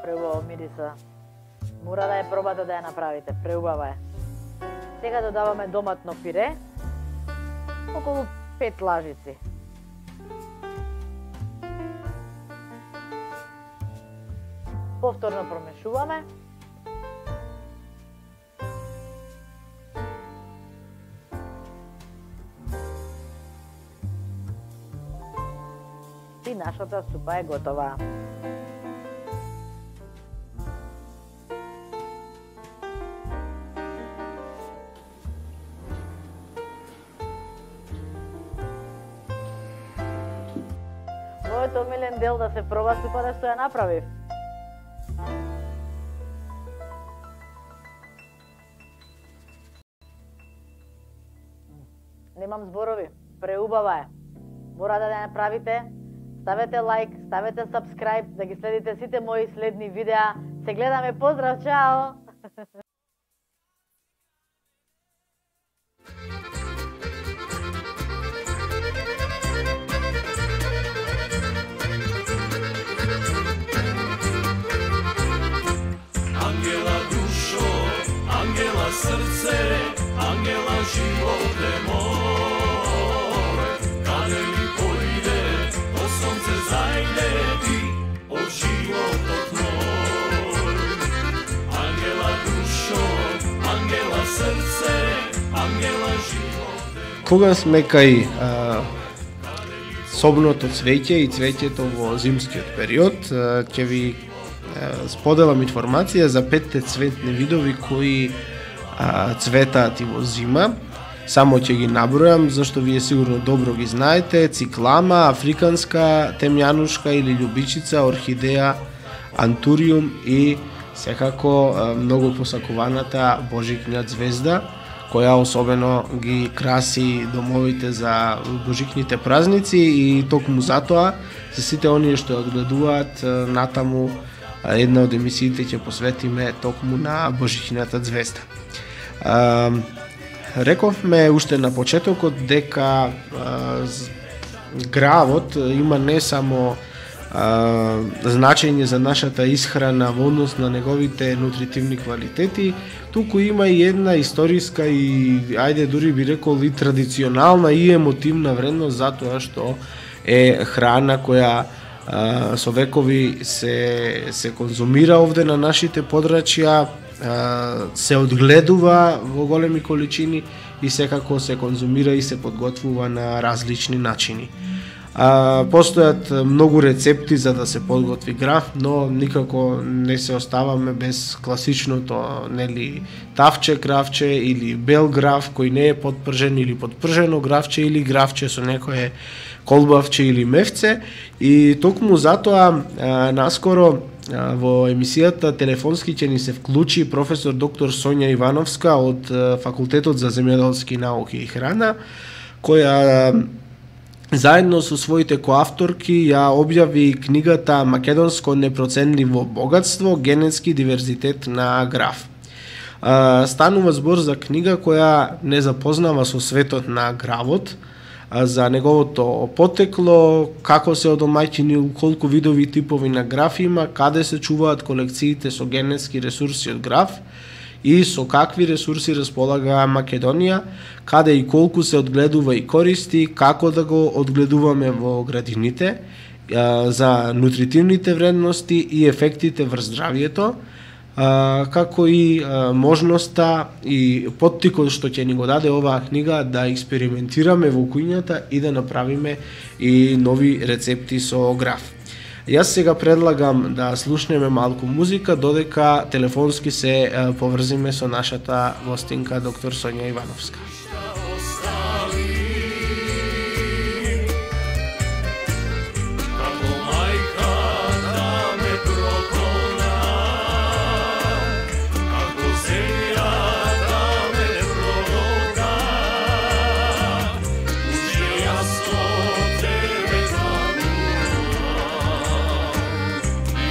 Преубаво мириса. Мора да ја пробате да ја направите. Преубава е. Сега додаваме доматно пире. Околу пет лажици. Повторно промешуваме. И нашата супа е готова. Мојот омилен дел да се проба супата што ја направив. Немам зборови, преубава е. Мора да ја направите, ставете лайк, ставете subscribe, да ги следите сите мои следни видеа. Се гледаме, поздрав, чао! Ангела душо, ангела срце, ангела животе мој, каде ли појде, о сонце зајде ти, од животот мој. Ангела душо, ангела срце, ангела животе мој. Кога сме кај а, собното цвеќе и цвеќето во зимскиот период, а, ќе ви а, споделам информација за петте цветни видови кои а, цветаат и во зима. Само ќе ги набројам, зашто вие сигурно добро ги знаете: циклама, африканска темјанушка или љубичица, орхидеја, антуриум и секако а, многу посакуваната божикња звезда, која особено ги краси домовите за божикните празници, и токму затоа за сите оние што ја гледуваат натаму една од емисиите ќе посветиме токму на Божичината звезда. А, рековме уште на почетокот дека а, гравот има не само а, значење за нашата исхрана во однос на неговите нутритивни квалитети, туку има и една историска и, ајде дури би рекол, и традиционална и емотивна вредност, затоа што е храна која а, со векови се, се конзумира овде на нашите подрачја, а, се одгледува во големи количини и секако се конзумира и се подготвува на различни начини. А, постојат многу рецепти за да се подготви граф, но никако не се оставаме без класичното, нели, тавче графче или бел граф кој не е подпржен, или подпржено графче, или графче со некое колбавче или мевце. И токму затоа а, наскоро а, во емисијата телефонски ќе ни се вклучи професор доктор Сонја Ивановска од а, Факултетот за земјоделски науки и храна, која а, заедно со своите коавторки ја објави книгата Македонско непроценливо богатство, генетски диверзитет на граф. А, станува збор за книга која не запознава со светот на гравот, а, за неговото потекло, како се одомаќини, колку видови типови на граф има, каде се чуваат колекциите со генетски ресурси од граф и со какви ресурси располага Македонија, каде и колку се одгледува и користи, како да го одгледуваме во градините, за нутритивните вредности и ефектите врз здравието, како и можноста и поттикот што ќе ни го даде оваа книга да експериментираме во кујната и да направиме и нови рецепти со граф. Јас сега предлагам да слушнеме малку музика, додека телефонски се поврзиме со нашата гостинка доктор Сонја Ивановска.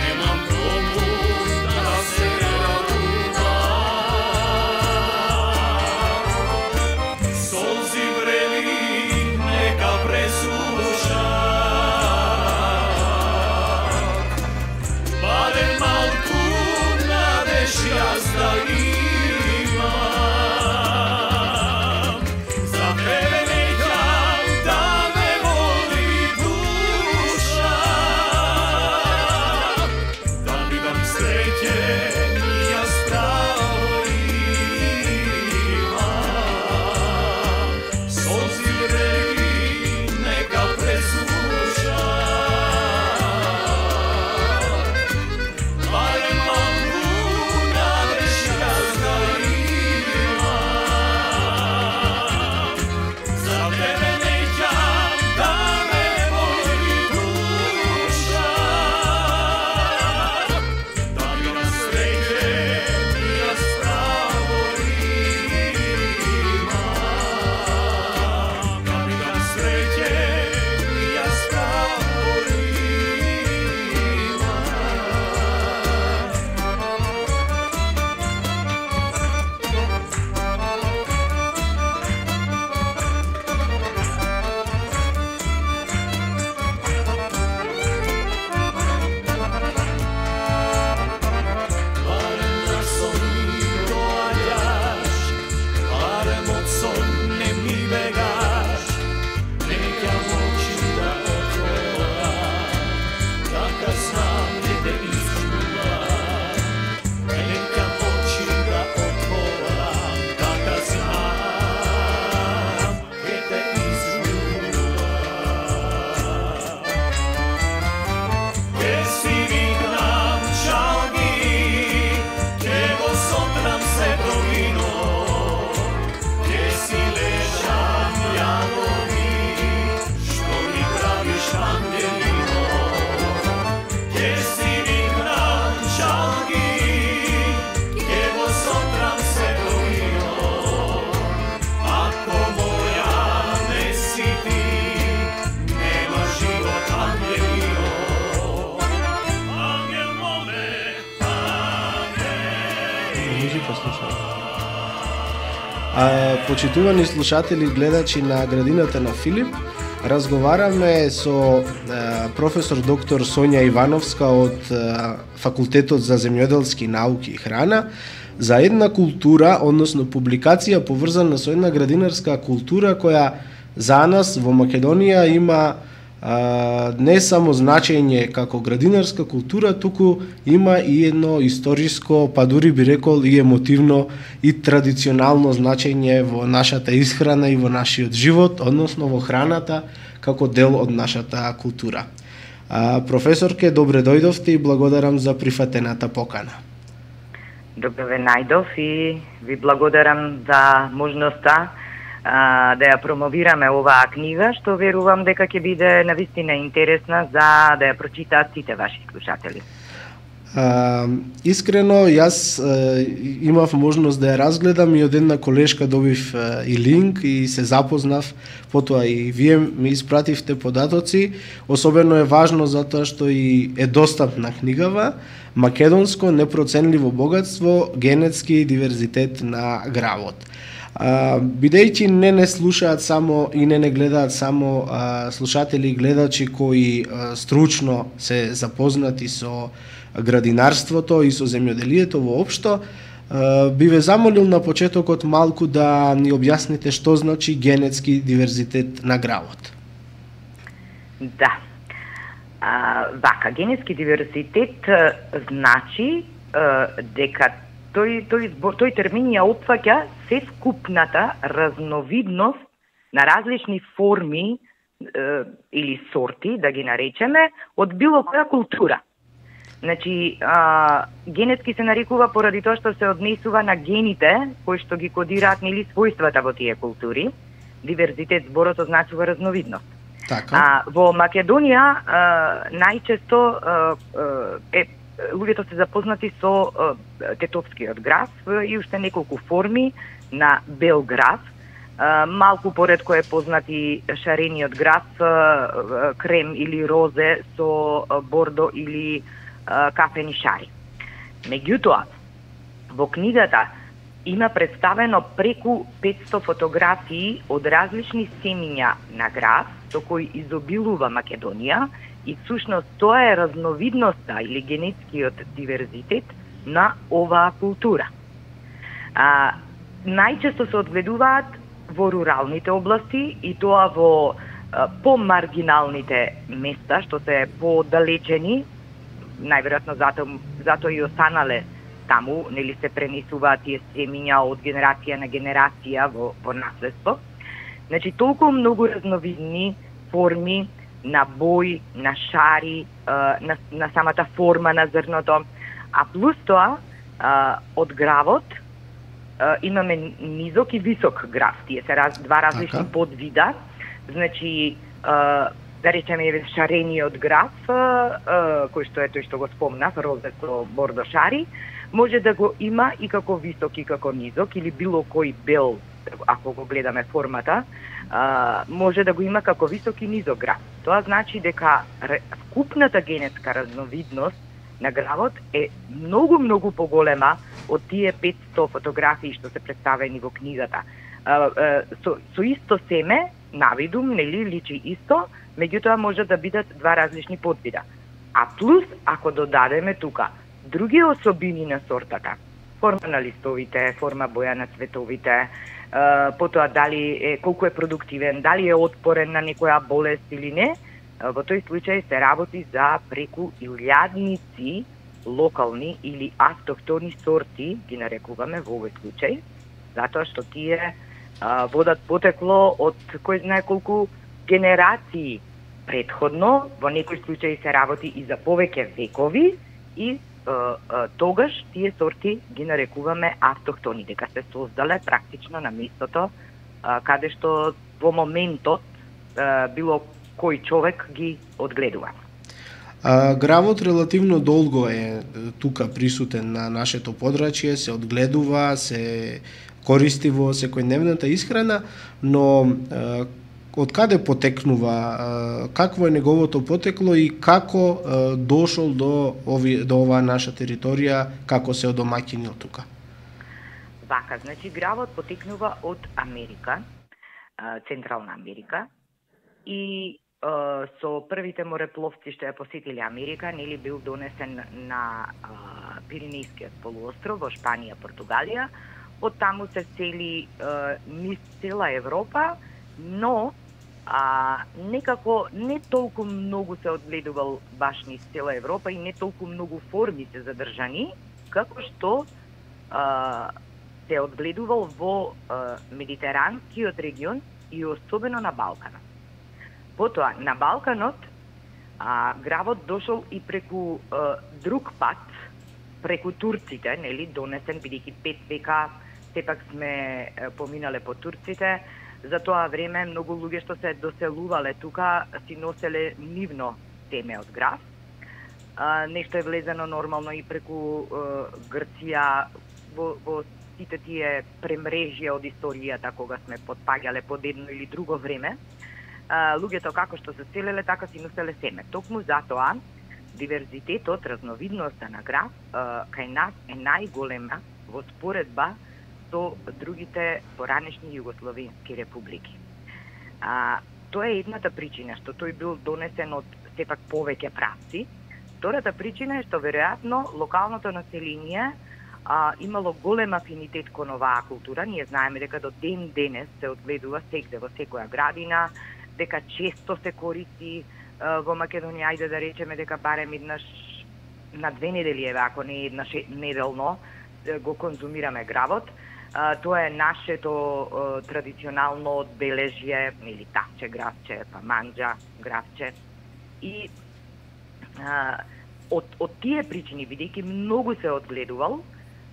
Nemam музика слушаме. А, почитувани слушатели и гледачи на Градината на Филип, разговараме со а, професор доктор Сонја Ивановска од а, Факултетот за земјоделски науки и храна за една култура, односно публикација поврзана со една градинарска култура која за нас во Македонија има а, не само значење како градинарска култура, туку има и едно историско, па дури би рекол и емотивно и традиционално значење во нашата исхрана и во нашиот живот, односно во храната како дел од нашата култура. А, професорке, добре дојдовте и благодарам за прифатената покана. Добре ве најдов и ви благодарам за можноста а, да ја промовираме оваа книга, што верувам дека ќе биде навистина интересна за да ја прочитаат сите ваши слушатели. А, искрено, јас а, имав можност да ја разгледам и од една колешка добив а, и линк и се запознав, потоа и вие ми испративте податоци. Особено е важно затоа што и е достапна книгава Македонско непроценливо богатство, генетски диверзитет на гравот. А, бидејќи не не слушаат само и не не гледаат само а, слушатели и гледачи кои а, стручно се запознати со градинарството и со земјоделието воопшто, би ве замолил на почетокот малку да ни објасните што значи генетски диверзитет на гравот. Да. А, вака, генетски диверзитет а, значи а, дека тој, тој, тој термин ја опфаќа се скупната разновидност на различни форми а, или сорти, да ги наречеме, од било која култура. Значи, а, генетски се нарекува поради тоа што се однесува на гените кои што ги кодираат нели својствата во тие култури. Диверзитет зборот означува разновидност. Така. А, во Македонија а, најчесто а, е луѓето се запознати со а, тетовскиот грав и уште неколку форми на бел грав. А, малку поредко е познати шарениот грав, а, крем или розе со а, бордо или а, кафени шари. Меѓутоа, во книгата има представено преку петсто фотографии од различни семиња на грав со кои изобилува Македонија и всушност тоа е разновидноста или генетскиот диверзитет на оваа култура. А, најчесто се одгледуваат во руралните области и тоа во а, помаргиналните места што се подалечени, најверојатно зато, зато и останале таму, нели се пренесуваат тие семиња од генерација на генерација во, во наследство. Значи, толку многу разновидни форми на бој, на шари, на, на самата форма на зрното, а плюс тоа, од гравот имаме низок и висок грав. Тие се раз, два различни така подвида. Значи, да речеме шарениот грав, кој што е тој што го спомнав, розе со бордо шари, може да го има и како висок и како низок, или било кој бел, ако го гледаме формата, може да го има како висок и низок грав. Тоа значи дека вкупната генетска разновидност на гравот е многу, многу поголема од тие петсто фотографии што се представени во книгата. Со, со исто семе, навидум, нели, личи исто, меѓутоа може да бидат два различни подвида. А плюс, ако додадеме тука други особини на сортата, форма на листовите, форма боја на цветовите, потоа дали е, колку е продуктивен, дали е отпорен на некоја болест или не, во тој случај се работи за преку илјадници локални или автохтони сорти, ги нарекуваме во овој случај, затоа што тие а, водат потекло од кој знае колку генерации предходно, во некој случај се работи и за повеќе векови и а, а, тогаш тие сорти ги нарекуваме автохтони, дека се создале практично на местото а, каде што во моментот а, било кој човек ги одгледува. А, гравот релативно долго е тука присутен на нашето подрачје, се одгледува, се користи во секојдневната исхрана, но а, од каде потекнува, а, какво е неговото потекло и како а, дошол до ови до оваа наша територија, како се одомаќинил тука? вака, значи гравот потекнува од Америка, Централна Америка, и со првите морепловци што ја посетиле Америка, нели бил донесен на Пиренејскиот полуостров во Шпанија, Португалија. Од таму се сели низ цела Европа, но а, некако не толку многу се одгледувал баш низ цела Европа и не толку многу форми се задржани, како што а, се одгледувал во а, Медитеранскиот регион и особено на Балканот. Потоа, на Балканот, а, гравот дошол и преку а, друг пат, преку турците, нели, донесен, бидејќи пет века, сепак сме а, поминале по турците, за тоа време многу луѓе што се доселувале тука си носеле нивно теме од грав. А, нешто е влезено нормално и преку а, Грција во, во сите тие премрежја од историјата кога сме потпаѓале под едно или друго време. Uh, луѓето како што се селеле, така си носеле семе. Токму затоа, диверзитетот, разновидноста на грав, uh, кај нас е најголема во споредба со другите поранешни југословенски републики. Uh, тоа е едната причина, што тој бил донесен од сепак повеќе правци. Втората причина е што веројатно локалното население uh, имало голем афинитет кон оваа култура. Ние знаеме дека до ден денес се одгледува секде во секоја градина, дека често се користи uh, во Македонија, ајде да речеме дека барем еднаш на две недели, еве, ако не еднаш неделно, го конзумираме гравот. Uh, тоа е нашето uh, традиционално одбележје, или тапче, гравче, па манџа, гравче. И uh, од, од тие причини, бидејќи многу се одгледувал,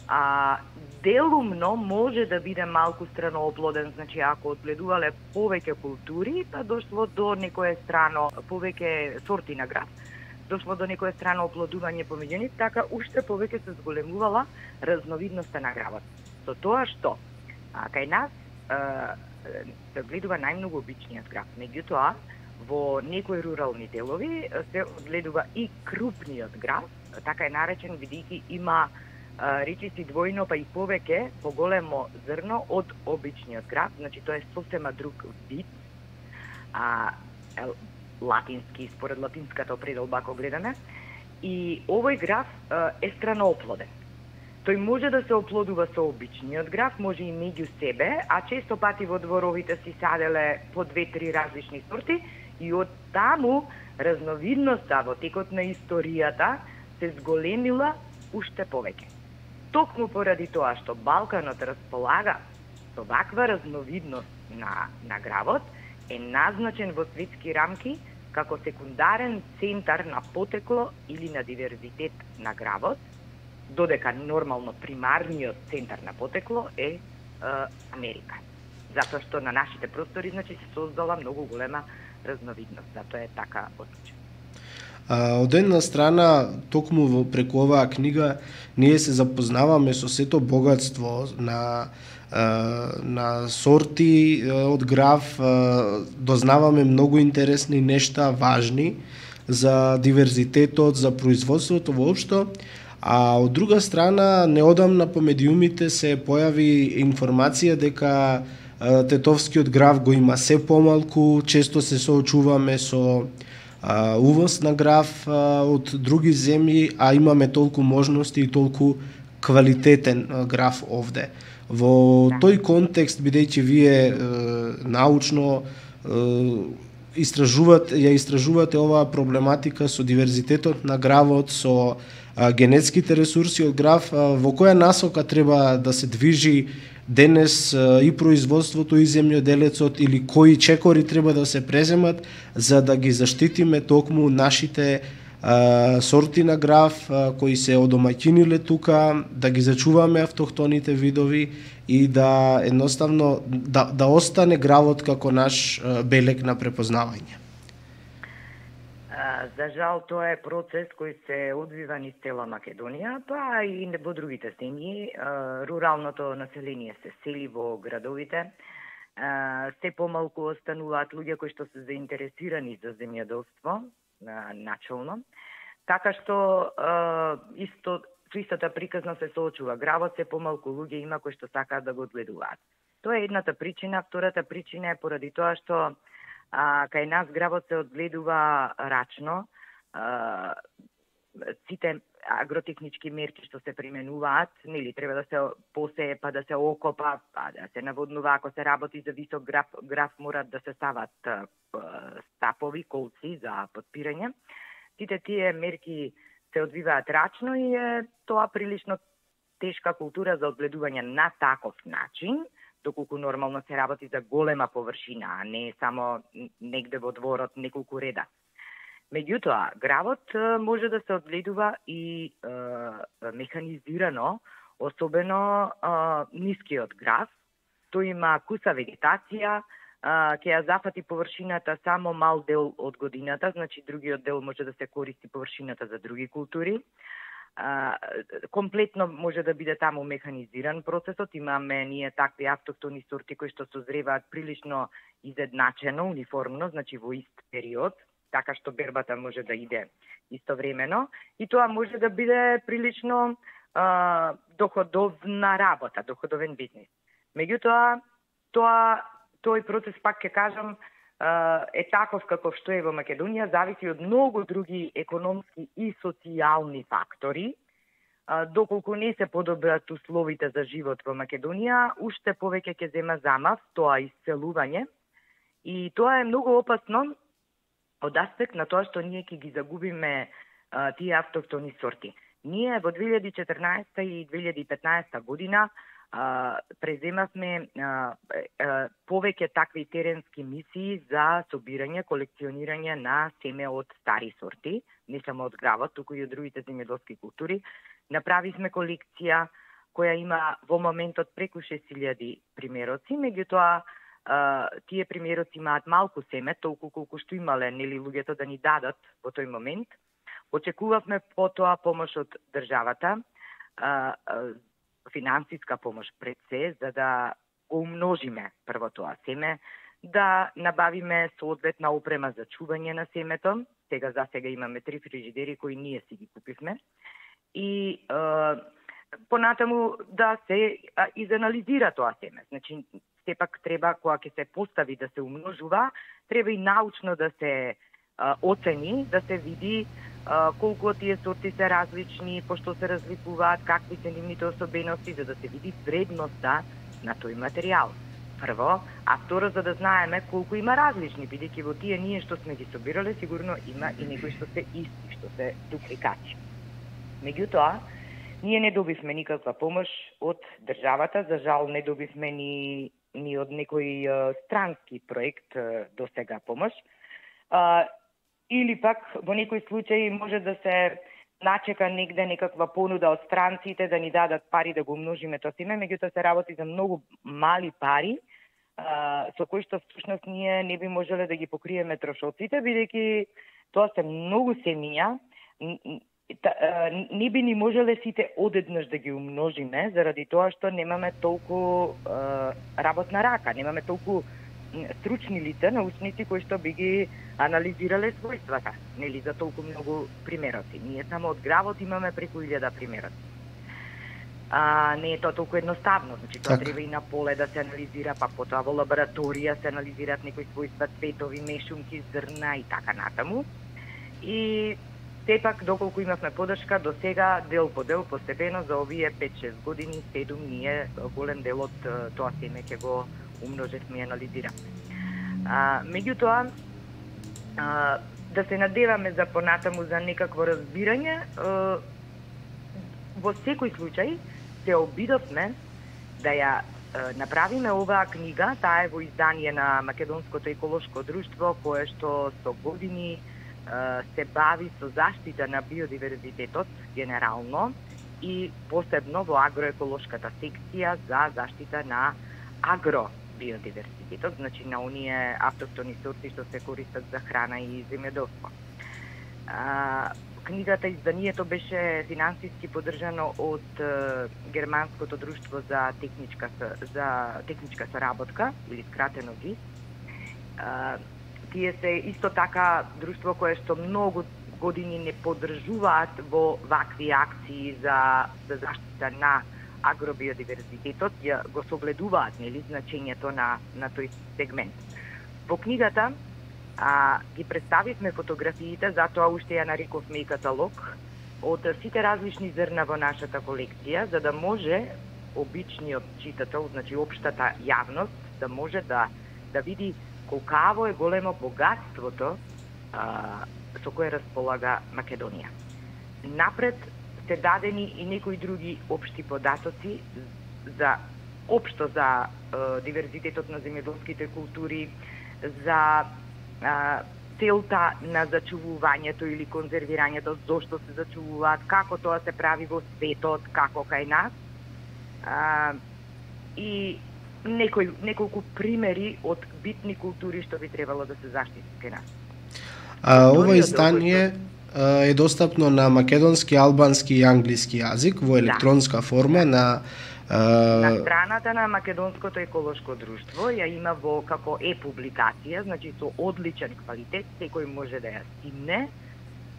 а, делумно може да биде малку странооплоден, значи ако одгледувале повеќе култури, па дошло до некое страно, повеќе сорти на грав, дошло до некое страно оплодување помеѓу нив, така уште повеќе се зголемувала разновидноста на гравот. Со тоа што а, кај нас а, се одгледува најмногу обичниот грав, меѓутоа во некои рурални делови се одгледува и крупниот грав, така е наречен бидејќи има речиси двојно па и повеќе поголемо зрно од обичниот грав, значи тоа е сосема друг вид. А, латински, според латинската определба ако гледаме, и овој грав е странооплоден. Тој може да се оплодува со обичниот грав, може и меѓу себе, а често пати во дворовите си саделе по две-три различни сорти и од таму разновидноста во текот на историјата се зголемила уште повеќе. Токму поради тоа што Балканот располага со ваква разновидност на, на гравот, е назначен во светски рамки како секундарен центар на потекло или на диверзитет на гравот, додека нормално примарниот центар на потекло е, е Америка. Затоа што на нашите простори значи се создала многу голема разновидност, затоа е така одлучен. А, од една страна, токму во преку оваа книга, ние се запознаваме со сето богатство на, а, на сорти од грав, а, дознаваме многу интересни нешта, важни за диверзитетот, за производството воопшто, а од друга страна, неодамна по медиумите се појави информација дека а, тетовскиот грав го има се помалку, често се соочуваме со Uh, увоз на грав uh, од други земји, а имаме толку можности и толку квалитетен uh, грав овде. Во тој контекст, бидејќи вие uh, научно uh, истражувате, ја истражувате оваа проблематика со диверзитетот на гравот, со uh, генетските ресурси од грав, uh, во која насока треба да се движи денес и производството и земјоделецот, или кои чекори треба да се преземат за да ги заштитиме токму нашите а, сорти на грав а, кои се одомаќиниле тука, да ги зачуваме автохтоните видови и да едноставно да, да остане гравот како наш а, белег на препознавање. За жал, тоа е процес кој се одвива низ цела Македонија, па и во другите земји. Руралното население се сели во градовите. Се помалку остануваат луѓе кои што се заинтересирани за земјоделство, начално. Така што исто што истата приказна се соочува. Гравот се помалку луѓе има кои што сакаат да го одгледуваат. Тоа е едната причина. Втората причина е поради тоа што а, кај нас гравот се одгледува рачно. А, сите агротехнички мерки што се применуваат, нели треба да се посее, па да се окопа, па да се наводнува, ако се работи за висок граф, граф морат да се стават стапови, колци за подпирање. Сите тие мерки се одвиваат рачно и е тоа прилично тешка култура за одгледување на таков начин, доколку нормално се работи за голема површина, а не само негде во дворот неколку реда. Меѓутоа, гравот може да се одгледува и е, механизирано, особено е, нискиот грав. Тој има куса вегетација, ќе ја зафати површината само мал дел од годината, значи другиот дел може да се користи површината за други култури. А, комплетно може да биде таму механизиран процесот. Имаме ние такви автохтони сорти кои што созреваат прилично изедначено, униформно, значи во ист период, така што бербата може да иде истовремено и тоа може да биде прилично а, доходовна работа, доходовен бизнис. Меѓутоа, тоа тој процес, пак ќе кажам, е таков каков што е во Македонија, зависи од многу други економски и социјални фактори. Доколку не се подобрат условите за живот во Македонија, уште повеќе ќе зема замав тоа исцелување. И тоа е многу опасно од аспект на тоа што ние ќе ги загубиме а, тие автохтони сорти. Ние во две илјади и четрнаесетта и две илјади и петнаесетта година а, преземавме а, а, повеќе такви теренски мисии за собирање, колекционирање на семе од стари сорти, не само од гравот, туку и од другите земјоделски култури. Направивме колекција која има во моментот преку шест илјади примероци, меѓутоа Uh, тие примероци имаат малку семе, толку колку што имале нели луѓето да ни дадат во тој момент. Очекувавме потоа помош од државата, uh, uh, финансиска помош пред се, за да го умножиме прво тоа семе, да набавиме соодветна опрема за чување на семето. Сега за сега имаме три фрижидери кои ние си ги купивме. И uh, понатаму да се uh, изанализира тоа семе. Значи, сепак треба, кога ќе се постави да се умножува, треба и научно да се а, оцени, да се види а, колку од тие сорти се различни, пошто се разликуваат, какви се нивните особености, за да се види вредноста на тој материјал. Прво, а второ, за да знаеме колку има различни, бидејќи во тие ние што сме ги собирале, сигурно има и некои што се исти, што се дупликати. Меѓутоа, ние не добивме никаква помош од државата, за жал не добивме ни ни од некој uh, странски проект uh, до сега помош. Uh, или пак во некој случај може да се начека негде некаква понуда од странците да ни дадат пари да го умножиме тоа семе, меѓутоа се работи за многу мали пари, uh, со кои што всушност ние не би можеле да ги покриеме трошоците, бидејќи тоа се многу семиња, не би ни можеле сите одеднаш да ги умножиме, заради тоа што немаме толку е, работна рака, немаме толку стручни лица, научници кои што би ги анализирале својствата, нели за толку многу примероци. Ние само од гравот имаме преку илјада примероци. А, не е тоа толку едноставно, значи тоа так. Треба и на поле да се анализира, па потоа во лабораторија се анализираат некои својства, цветови, мешунки, зрна и така натаму. И сепак, доколку имавме подршка, до сега, дел по дел, постепено, за овие пет-шест години, седум, ние голем дел од тоа семе ќе го умножевме и анализираме. А, меѓутоа, а, да се надеваме за понатаму за некакво разбирање, а, во секој случај се обидовме да ја а, направиме оваа книга, таа е во издание на Македонското еколошко друштво, кое што со години се бави со заштита на биодиверзитетот генерално и посебно во агроеколошката секција за заштита на агробиодиверзитетот, значи на оние автохтони сорти што се користат за храна и земјоделство. Книгата, изданието беше финансиски поддржано од Германското друштво за техничка за техничка соработка или скратено ГИС. Тие се исто така друштво кое што многу години не поддржуваат во вакви акции за, за заштита на агробиодиверзитетот, ја го согледуваат, нели, значењето на, на тој сегмент. Во книгата а, ги представивме фотографиите, затоа уште ја нарековме и каталог, од сите различни зрна во нашата колекција, за да може обичниот читател, значи општата јавност, да може да, да види колкаво е големо богатството а, со кое располага Македонија. Напред се дадени и некои други општи податоци за општо за а, диверзитетот на земјоделските култури, за а, целта на зачувувањето или конзервирањето, зошто се зачувуваат, како тоа се прави во светот, како кај нас. А, и некои неколку примери од битни култури што би требало да се заштитат кај нас. А, ова издание а, е достапно на македонски, албански и англиски јазик во електронска форма на а... на страната на Македонското еколошко друштво, ја има во како е-публикација, значи со одличен квалитет, секој може да ја стимне.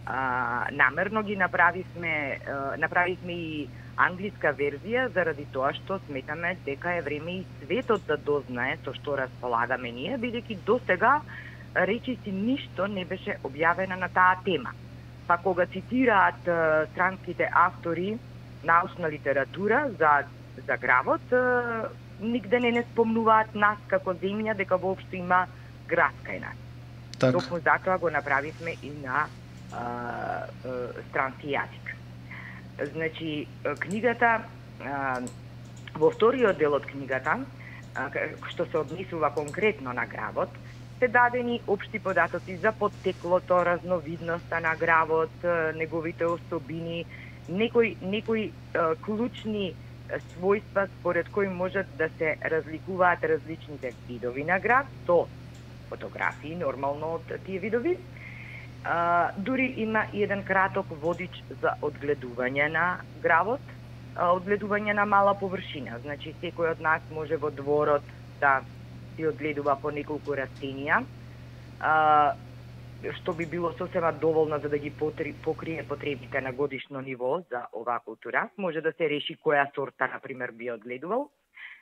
А, намерно ги направивме, а, направивме и англиска верзија, заради тоа што сметаме дека е време и светот да дознае со што располагаме ние, бидејќи досега речиси ништо не беше објавено на таа тема. Па кога цитираат а, странските автори научна литература за, за гравот, а, нигде не не спомнуваат нас како земја, дека воопшто има град кај нас. Так. Токму затоа го направивме и на а, а, странски јазик. Значи, книгата, а, во вториот дел од книгата, а, што се однесува конкретно на гравот, се дадени општи податоци за поттеклото, разновидноста на гравот, неговите особини, некои, некои а, клучни својства според кои можат да се разликуваат различните видови на грав, со фотографии нормално од тие видови. Uh, дури има и еден краток водич за одгледување на гравот, uh, одгледување на мала површина. Значи, секој од нас може во дворот да си одгледува по неколку растенија, uh, што би било сосема доволно за да ги покрие потребите на годишно ниво за оваа култура. Може да се реши која сорта, например, би одгледувал.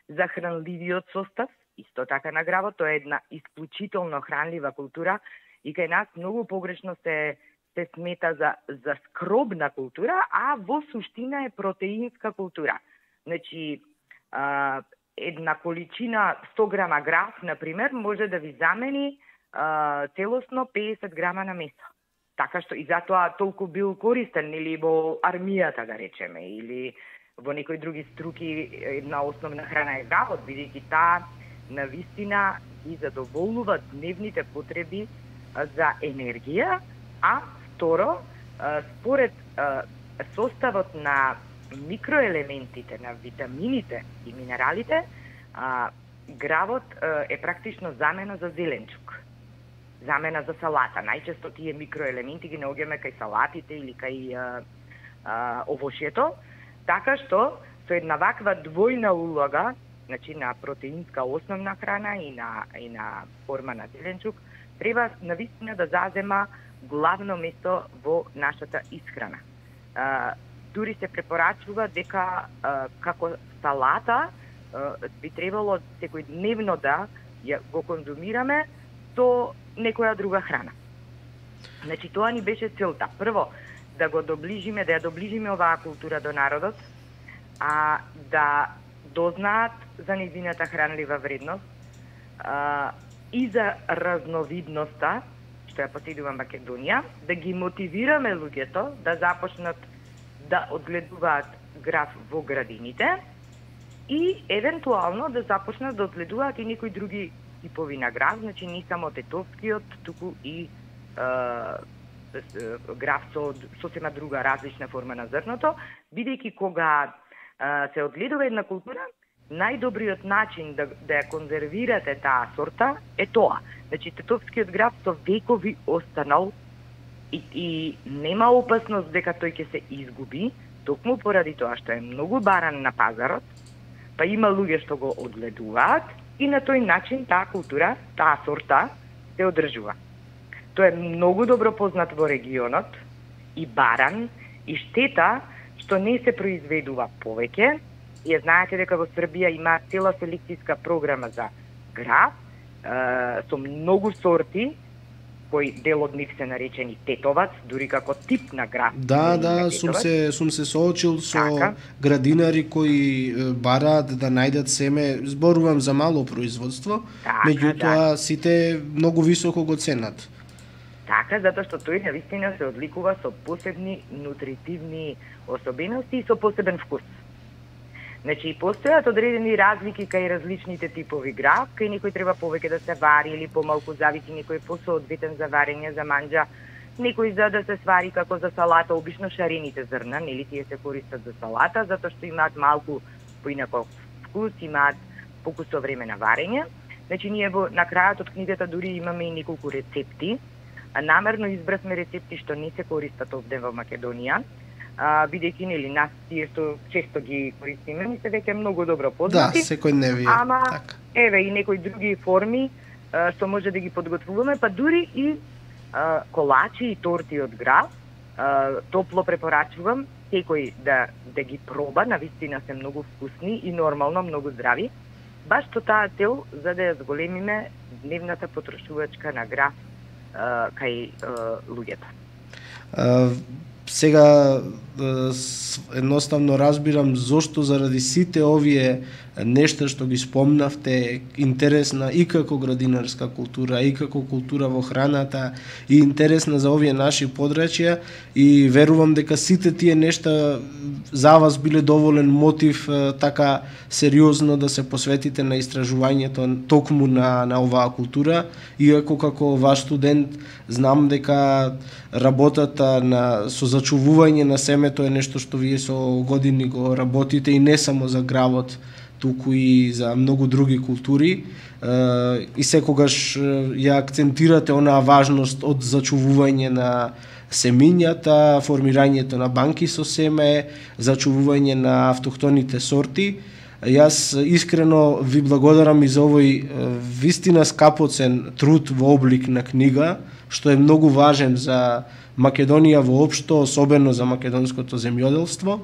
За хранливиот состав, исто така на гравот, тоа е една исклучително хранлива култура, и кај нас многу погрешно се, се смета за, за скробна култура, а во суштина е протеинска култура. Значи, а, една количина сто грама граф, например, може да ви замени а, целосно педесет грама на месо. Така што и затоа толку бил користен, или во армијата, да речеме, или во некои други струки, една основна храна е гравот, бидејќи таа навистина и задоволува дневните потреби за енергија, а второ, според составот на микроелементите, на витамините и минералите, гравот е практично замена за зеленчук, замена за салата. Најчесто тие микроелементи ги наоѓаме кај салатите или кај овошјето, така што со една ваква двојна улога, значи на протеинска основна храна и на, и на форма на зеленчук, треба навистина да зазема главно место во нашата исхрана. А, дури се препорачува дека а, како салата а, би требало секојдневно да ја го конзумираме со некоја друга храна. Значи, тоа ни беше целта. Прво, да го доближиме, да ја доближиме оваа култура до народот, а да дознаат за нејзината хранлива вредност, а, и за разновидноста, што ја поседува Македонија, да ги мотивираме луѓето да започнат да одгледуваат граф во градините и евентуално да започнат да одгледуваат и некои други типови на граф, значи не само тетовскиот, туку и е, граф со сосема друга различна форма на зрното, бидејќи кога е, се одгледува една култура, најдобриот начин да, да ја конзервирате таа сорта е тоа. Значи, тетовскиот граф со векови останал и, и нема опасност дека тој ќе се изгуби, токму поради тоа што е многу баран на пазарот, па има луѓе што го одгледуваат и на тој начин таа култура, таа сорта се одржува. Тоа е многу добро познат во регионот, и баран, и штета што не се произведува повеќе. Ја знаете дека во Србија има цела селекцијска програма за граф, е, со многу сорти, кои дел од нив се наречени тетовац, дури како тип на граф. Да, да, сум се сум се соочил со така градинари кои бараат да најдат семе, зборувам за мало производство, така, меѓутоа да. сите многу високо го ценат. Така, затоа што тој навистина се одликува со посебни нутритивни особености и со посебен вкус. Значи, постојат одредени разлики кај различните типови граф, кај некој треба повеќе да се вари или помалку, зависи, некој е посоодветен за варење, за манџа, некој за да се свари како за салата, обично шарените зрна, нели тие се користат за салата, затоа што имаат малку поинаков вкус, имаат покусо време на варење. Значи, ние во на крајот од книгата дури имаме и неколку рецепти, а намерно избравме рецепти што не се користат овде во Македонија, а, бидејќи нели нас тие што често ги користиме, ни се веќе многу добро познати. Да, секојдневие. Ама така. Еве и некои други форми а, што може да ги подготвуваме, па дури и а, колачи и торти од граф. А, топло препорачувам секој да да ги проба, навистина се многу вкусни и нормално многу здрави. Баш со таа цел за да ја зголемиме дневната потрошувачка на граф а, кај а, луѓето. А, сега едноставно разбирам зошто заради сите овие нешта што ги спомнавте, интересна и како градинарска култура, и како култура во храната, и интересна за овие наши подрачја, и верувам дека сите тие нешта за вас биле доволен мотив така сериозно да се посветите на истражувањето токму на, на оваа култура, иако како ваш студент знам дека работата на со зачувување на семето е нешто што вие со години го работите и не само за гравот, туку и за многу други култури, и секогаш ја акцентирате онаа важност од зачувување на семињата, формирањето на банки со семе, зачувување на автохтоните сорти. Јас искрено ви благодарам и за овој вистина скапоцен труд во облик на книга, што е многу важен за Македонија воопшто, особено за македонското земјоделство.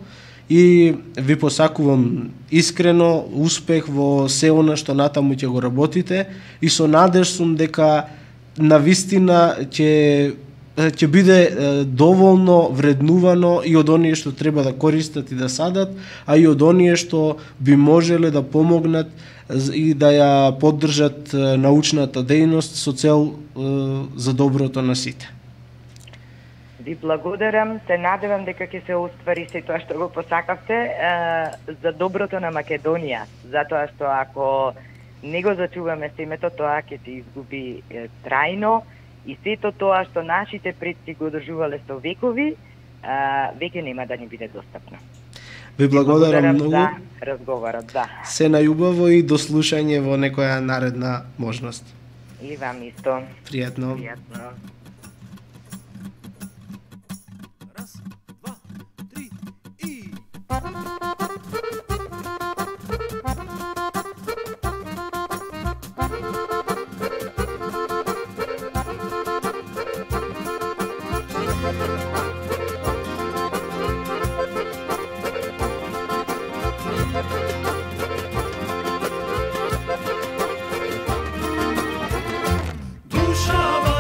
И ви посакувам искрено успех во се она што натаму ќе го работите и со надеж сум дека навистина ќе ќе биде доволно вреднувано и од оние што треба да користат и да садат, а и од оние што би можеле да помогнат и да ја поддржат научната дејност со цел за доброто на сите. Ви благодарам, се надевам дека ќе се оствари се тоа што го посакавте е, за доброто на Македонија, затоа што ако не го зачуваме семето, тоа ќе се изгуби е, трајно и сето тоа што нашите предци го одржувале со векови, е, веќе нема да ни биде достапно. Ви благодарам многу за разговорот, да. Се најубаво и до слушање во некоја наредна можност. И вам исто. Пријатно. Пријатно. Душава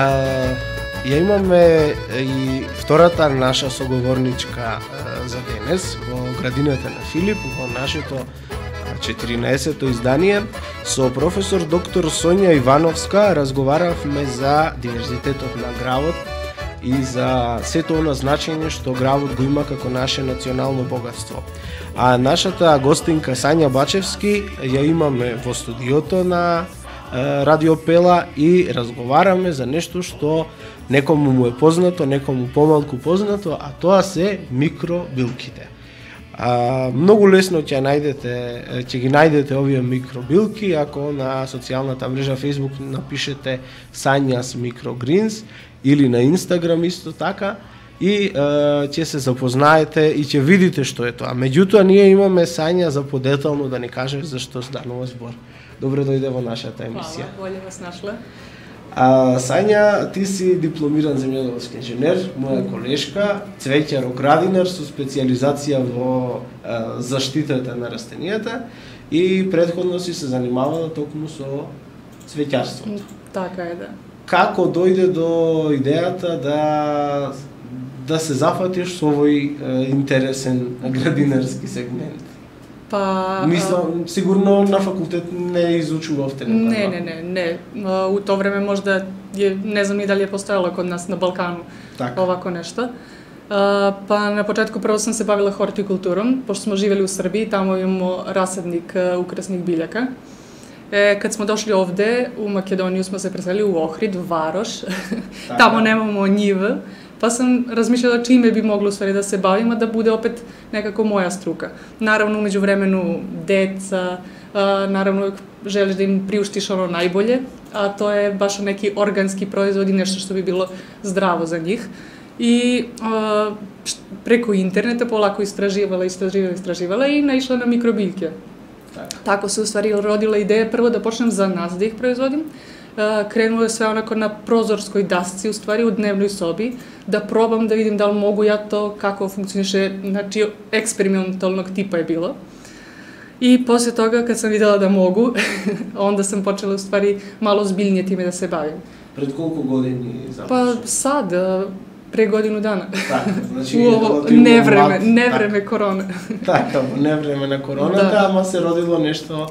А, ја имаме и втората наша соговорничка а, за денес во градината на Филип, во нашето четиринаесетто издание. Со професор доктор Сонја Ивановска разговаравме за диверзитетот на гравот и за сето оно значење што гравот го има како наше национално богатство. А нашата гостинка Сања Бачевски ја имаме во студиото на е, Радио Пела и разговараме за нешто што некому му е познато, некому помалку познато, а тоа се микробилките. А, многу лесно ќе најдете, ќе ги најдете овие микробилки ако на социјалната мрежа Facebook напишете Санјас Microgreens или на Инстаграм исто така и е, ќе се запознаете и ќе видите што е тоа. Меѓутоа ние имаме Сања за подетално да ни кажеш зашто станува збор. Добре дојде во нашата емисија. Хвала, боле вас нашла. А, Сања, ти си дипломиран земјоделски инженер, моја колешка, цвеќар-оградинар со специјализација во а, заштитата на растенијата и претходно си се занимавала токму со цвеќарството. Така е, да. Како дојде до идејата да да се зафатиш со овој е, интересен градинарски сегмент? Па Мислам, сигурно на факултет не изучувавте некоја. Не, не, не, не. А, У тоа време можда е, не знам ни дали е постоело код нас на Балкану Така. овако нешто. А, па на почетку прво сам се бавила хортикултуром, пошто смо живели у Србија, таму имamo расадник украсних билјака. Е, кад смо дошли овде, у Македонија смо се преселили у Охрид, Варош. Така. Таму немамо нива. Па сам размишljala чиме би могло ствари да се бавим, а да буде опет некако моја струка. Наравно, меѓувремено, деца, а, наравно, желиш да им приуштиш оно најболje, а тоа е баш неки органски производи, нешто што би било здраво за нив. И а, преку интернета полако истраживала, истраживала, истраживала и наишла на микробилки. Така. Тако се уствари родила идеја прво да почнем за нас да их производим. Кренуло све онако на прозорској дасци, уствари у дневној соби, да пробам да видим дали могу ја то, како функционише, значи експерименталnog типа е било. И после тога, кад сам видела да могу, онда сам почела уствари мало збилније тиме да се бавим. Пред колку години Па започна? сад, пре годину дана. Така, значи У ово релативно невреме, млад, невреме корона. Така, во невреме на короната, Да. ама се родило нешто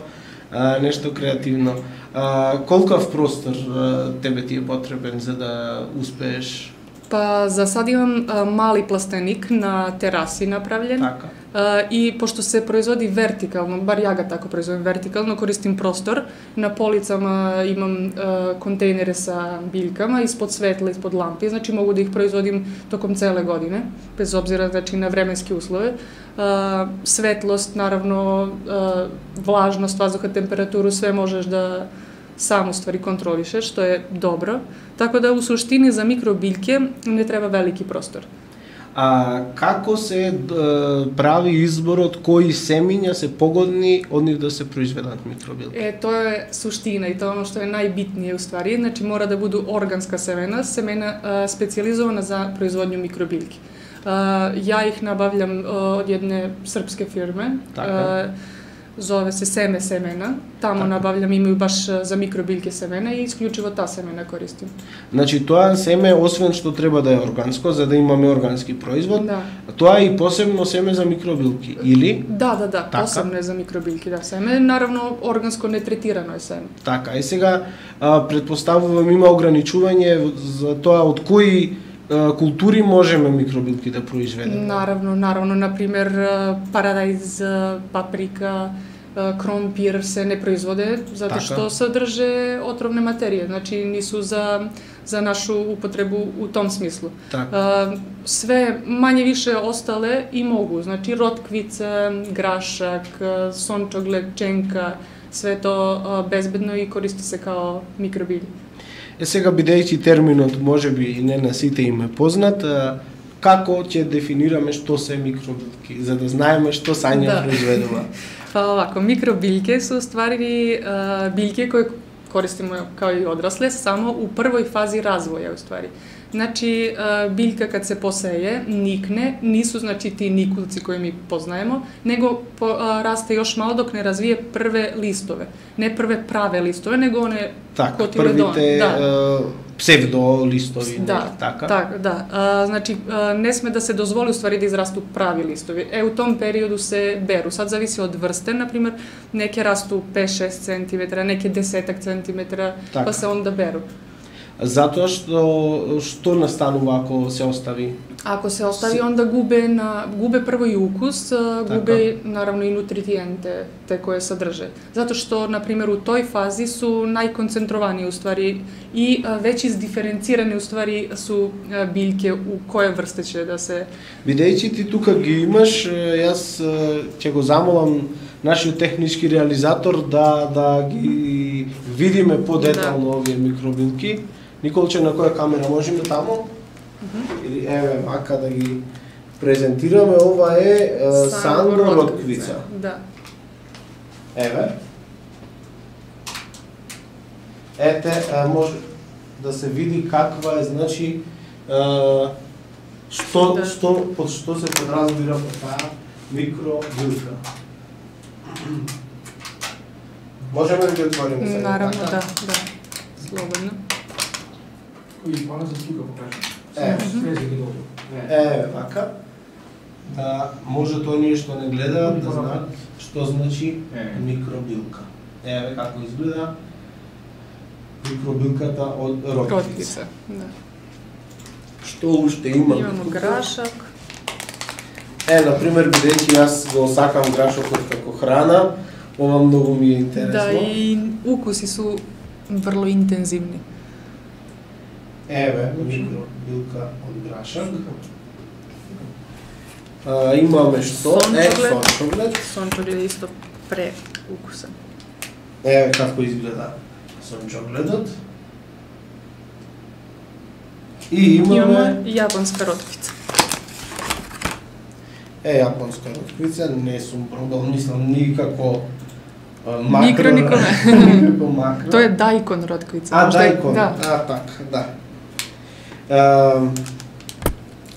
а, нешто креативно. А, колкав простор а, тебе ти е потребен за да успееш? Па за сад имам а, мали пластеник на тераси направлен. Така. А, и пошто се производи вертикално, бар ја га тако производим вертикално, користим простор. На полицама имам а, контейнери са билькама, испод светла, испод лампи, значи могу да их производим током целе године, без обзира значи, на временски услови. А, светлост, наравно, а, влажност, воздуха, температуру, све можеш да сам уствари контролишеш, што е добро. Така да, у суштини, за микробилке не треба велики простор. А како се е, прави изборот кои семиња се погодни од нив да се произведат микробилки? Е, тоа е суштина и тоа е оно што е најбитнije уствари, значи мора да буду органска семена, семена а, специјализована за производњу микробилки. А, ја их набавljam а, од едне српске фирме, Така. а, зове се Семе семена, таму Така. набавljam, имају баш за микробилки семена и исклучиво таа семена користим. Значи тоа семе, освен што треба да е органско, за да имаме органски производ, Да. тоа е и посебно семе за микробилки, или? Да, да, да, Така. посебно е за микробилки, да, семе, наравно органско нетретирано е семе. Така, и сега а, предпоставувам има ограничување за тоа од кои а, култури можеме микробилки да произведеме. Наравно, наравно, например, парадајз, паприка, кромпир се не производе затоа Така. што содрже отровне матерije, значи нису за за нашу употребу у том смислу. Така. А, све мање више остале и могу, значи ротквица, грашак, сончоглед, ченка, све то а, безбедно и користи се као микробили. Е сега, бидејќи терминот можеби и не на сите им е познат, а, како ќе дефинираме што се микробилки, за да знаеме што Сања Да. произведува? Па овако, микробилке се уствари а, билке кои користимо као и одрасле само у првој фази развоја уствари. Значи, а, билка кад се посеje, никне, нису значи ти никулци кои ми познаемо, него по, а, расте још мало док не развие прве листове. Не прве праве листове, него оне Така, котиледон. првите Да. е, псевдо листови, Да, нели така? така, да. А, значи, а, не сме да се дозволи уствари да израсту прави листови. Е, у том периоду се беру. Сад зависи од врсте, например, неке расту пет-шест центиметра, неке десет центиметра, Така. па се онда беру. Затоа што што настанува ако се остави? Ако се остави, онда губе на губе прво и укус, а, Така. губе наравно и нутриенте те кои содрже. Затоа што на пример у тој фази су најконцентровани уствари и а, веќе издиференцирани уствари су а, билке у која врста ќе да се. Бидејќи ти тука ги имаш, е, јас е, ќе го замолам нашиот технички реализатор да да ги видиме подетално овие микробилки. Николче, на која камера можеме таму? Или еве вака да ги презентираме. Ова е, е Сандро ротквица. Да. Еве. Ете, е, може да се види каква е, значи, е, што, Да. што, под што се подразбира по таа микробилка. Можеме да ги отвориме сега? Наравно, така? да, да. Слободно. Кој пана за слука покажа. Е. Свежи ги добро. Е, вака. Да, може тоа ние што не гледаат да знаат што значи Е. микробилка. Еве како изгледа микробилката од ротквица. Ротквица. Да. Што уште има? Имамо грашак. Е, например, бидејќи јас го сакам грашокот како храна, ова многу ми е интересно. Да, и укуси су врло интензивни. Еве, микробилка од грашак. А, имаме што? Е, Сончоглед. сончоглед. Сончоглед е исто пре укуса. Еве како изгледа сончогледот. И имаме... Имаме јапонска ротквица. Е, јапонска ротквица, не сум пробал, мислам, никако а, макро... Микро нико не. Никако макро. Тоа е дајкон ротквица. А, Можда е- дајкон, Да. а, така, да. А,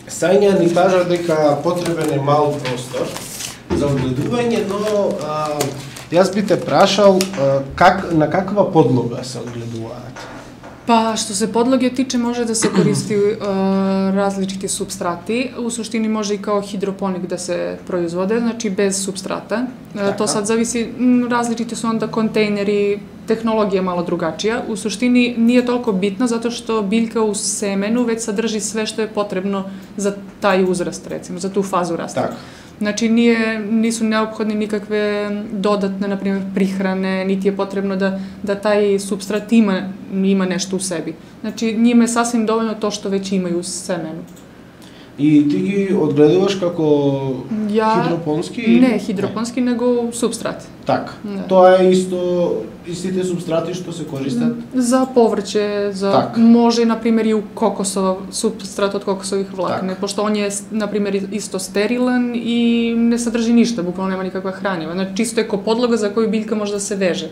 Сања ни кажа дека потребен е мал простор за огледување, но а, јас би те прашал а, как, на каква подлога се огледуваат? Па, што се подлоги тиче, може да се користи е, различити субстрати. У суштини може и као хидропоник да се производе, значи без субстрата. Е, Така. То сад зависи, м, различити се онда контейнери, технологија мало другачија. У суштини nije толку битно, затоа што билка у семену веќе содржи све што е потребно за тај узраст, рецимо, за ту фазу раста. Така. Значи, ние нису неопходни никакве додатне, например, прихране, нити е потребно да, да тај субстрат има, има нешто у себе. Значи, njima je sasvim dovoljno to što već imaju u semenu. И ти ги одгледуваш како Ја... хидропонски? Не хидропонски, него субстрат. Така. Да. Тоа е исто истите субстрати што се користат. За поврće, за Так. може, na primjer, i u kokosova, substrat od kokosovih vlakne, Так. pošto on je, na primjer, isto sterilan i ne sadrži ništa, bukvalno nema nikakva hranjiva. Znači, čisto je ko podloga za koju biljka može da se veže.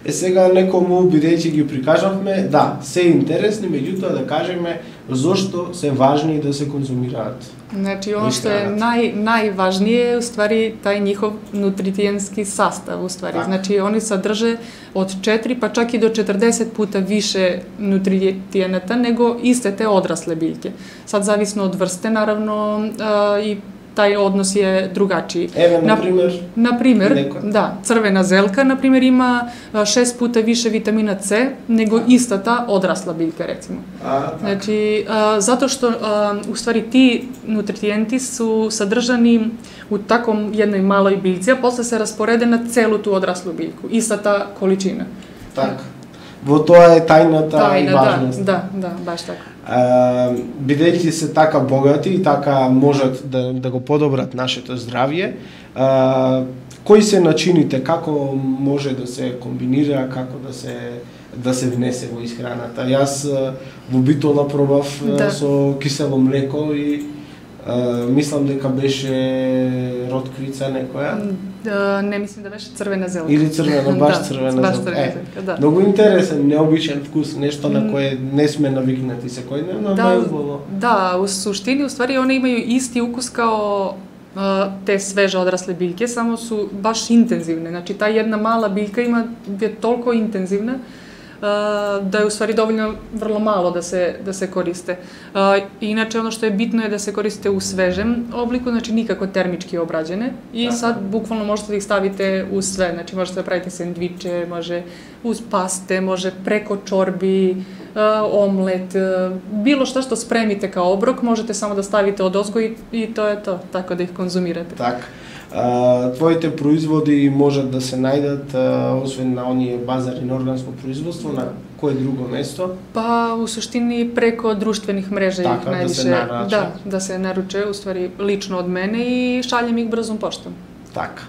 Е сега некому, бидејќи ги прикажавме, да, се интересни, меѓутоа да кажеме зошто се важни да се конзумираат. Znači, ono Koji što je hranat. naj, najvažnije je u stvari taj njihov nutritijenski sastav u stvari. Tak. Znači, oni sadrže od četiri pa čak i do četrdeset puta više nutritijenata nego iste te odrasle biljke. Sad, zavisno od vrste, naravno, a, i taj odnos je drugačiji. Еве, на Na- пример, Na primjer, Neko. da, crvena zelka, na primjer, ima a, šest puta više vitamina C nego ista ta odrasla biljka, recimo. а, така. Znači, a, zato što a, u stvari ti nutrijenti su sadržani u takom jednoj maloj biljci, a posle se rasporede na celu tu odraslu biljku. Ista ta količina. Така. Во тоа е тајната и Tajna, da, важност. da, da, baš tako. А, бидејќи се така богати и така можат да, да го подобрат нашето здравје, а, кои се начините, како може да се комбинира, како да се да се внесе во исхраната? Јас а, во битола пробав а, Да. со кисело млеко и а, мислам дека беше ротквица некоја. Da, ne mislim da беше crvena zelka. Или црвена, баш Da, црвена baš зелка. crvena Е, zelka, da. Многу интересен, необичен вкус, нешто на кое не сме навикнати секојдневно, но е убаво. Da, u suštini, u stvari, one imaju isti ukus kao a, te sveže odrasle biljke, samo su baš intenzivne. Znači, ta jedna mala biljka ima, je toliko intenzivna da je u stvari dovoljno vrlo malo da se, da se koriste. Inače, ono što je bitno je da se koriste u svežem obliku, znači nikako termički obrađene i sad bukvalno možete da ih stavite u sve, znači možete da pravite sendviče, može uz paste, može preko čorbi, omlet, bilo šta što spremite kao obrok, možete samo da stavite odozgo i, i to je to, tako da ih konzumirate. Так. А, твоите производи можат да се најдат, а, освен на оние базари на органско производство, на кое друго место? Pa u suštini preko društvenih mreža ih Така, да najviše, се нарача. da, da se naruče, u stvari lično od mene i šaljem ih brzom poštom. Така.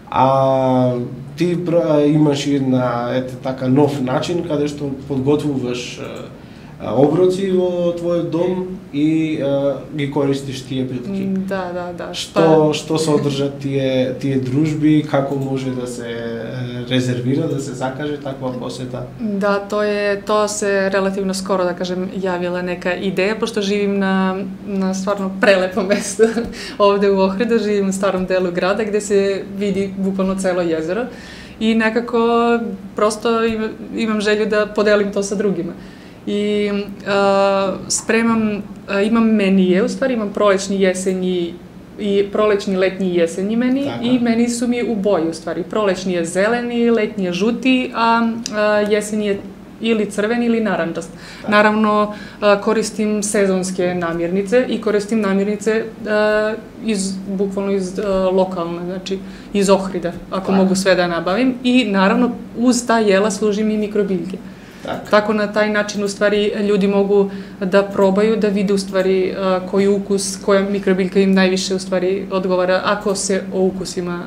А ти пр- имаш една ете така нов начин каде што подготвуваш а, оброци во твојот дом и а, ги користиш тие билки. Da, da, da. Што што содржат тие тие дружби, како може да се е, резервира, да се закаже таква посета? Da, to je, to se relativno skoro, da kažem, javila neka ideja, pošto živim na, na stvarno prelepom mestu ovde u Ohridu, živim u starom delu grada gde se vidi bukvalno celo jezero i nekako prosto im- imam želju da podelim to sa drugima. I a, spremam, a, imam menije, u stvari imam prolećni, jesenji i prolećni, letnji i jesenji meni Така. i meni su mi u boji u stvari. Prolećni je zeleni, letnji je žuti, a, a jesenji je ili crveni ili narandžast. Naravno, a, koristim sezonske namirnice i koristim namirnice a, iz, bukvalno iz a, lokalne, znači iz Ohrida, ako Так. mogu sve da nabavim. I naravno, uz ta jela služim i mikrobiljke. Така. Tako na taj način u stvari ljudi mogu da probaju, da vide u stvari uh, koji ukus, koja mikrobiljka im najviše u stvari odgovara ako se o ukusima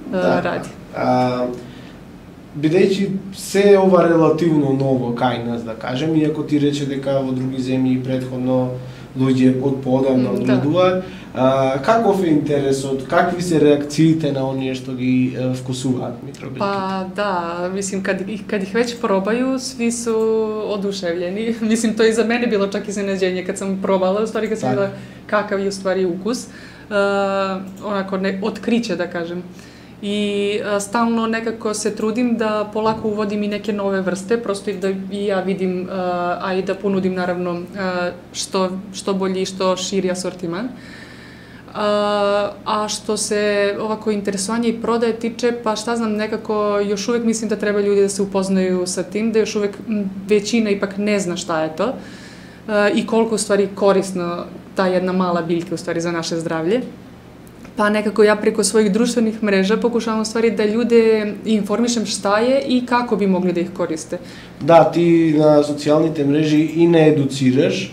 uh, Да. radi. А, бидејќи се ова релативно ново кај нас, да кажем, иако ти рече дека во други земји предходно луѓе од поодамна Да. одгледуваат, а, каков е интересот, какви се реакциите на оние што ги е, вкусуваат микробилките? Pa da, mislim kad ih, kad ih već probaju, svi su oduševljeni. Mislim, to je i za mene bilo čak iznenađenje kad sam probala, u stvari kad sam Tak. videla kakav je u stvari ukus. Uh, onako, ne, otkriće da kažem. I a, stalno nekako se trudim da polako uvodim i neke nove vrste, prosto i da i ja vidim, a, a i da ponudim naravno a, što, što bolji i što širi asortiman. A, a što se ovako interesovanja i prodaje tiče, pa šta znam, nekako još uvek mislim da treba ljudi da se upoznaju sa tim, da još uvek m, većina ipak ne zna šta je to a, i koliko u stvari korisno ta jedna mala biljka u stvari za naše zdravlje. Pa nekako ja preko svojih društvenih mreža pokušavam u stvari da ljude informišem šta je i kako bi mogli da ih koriste. Да, ти на социјалните мрежи и не едуцираш,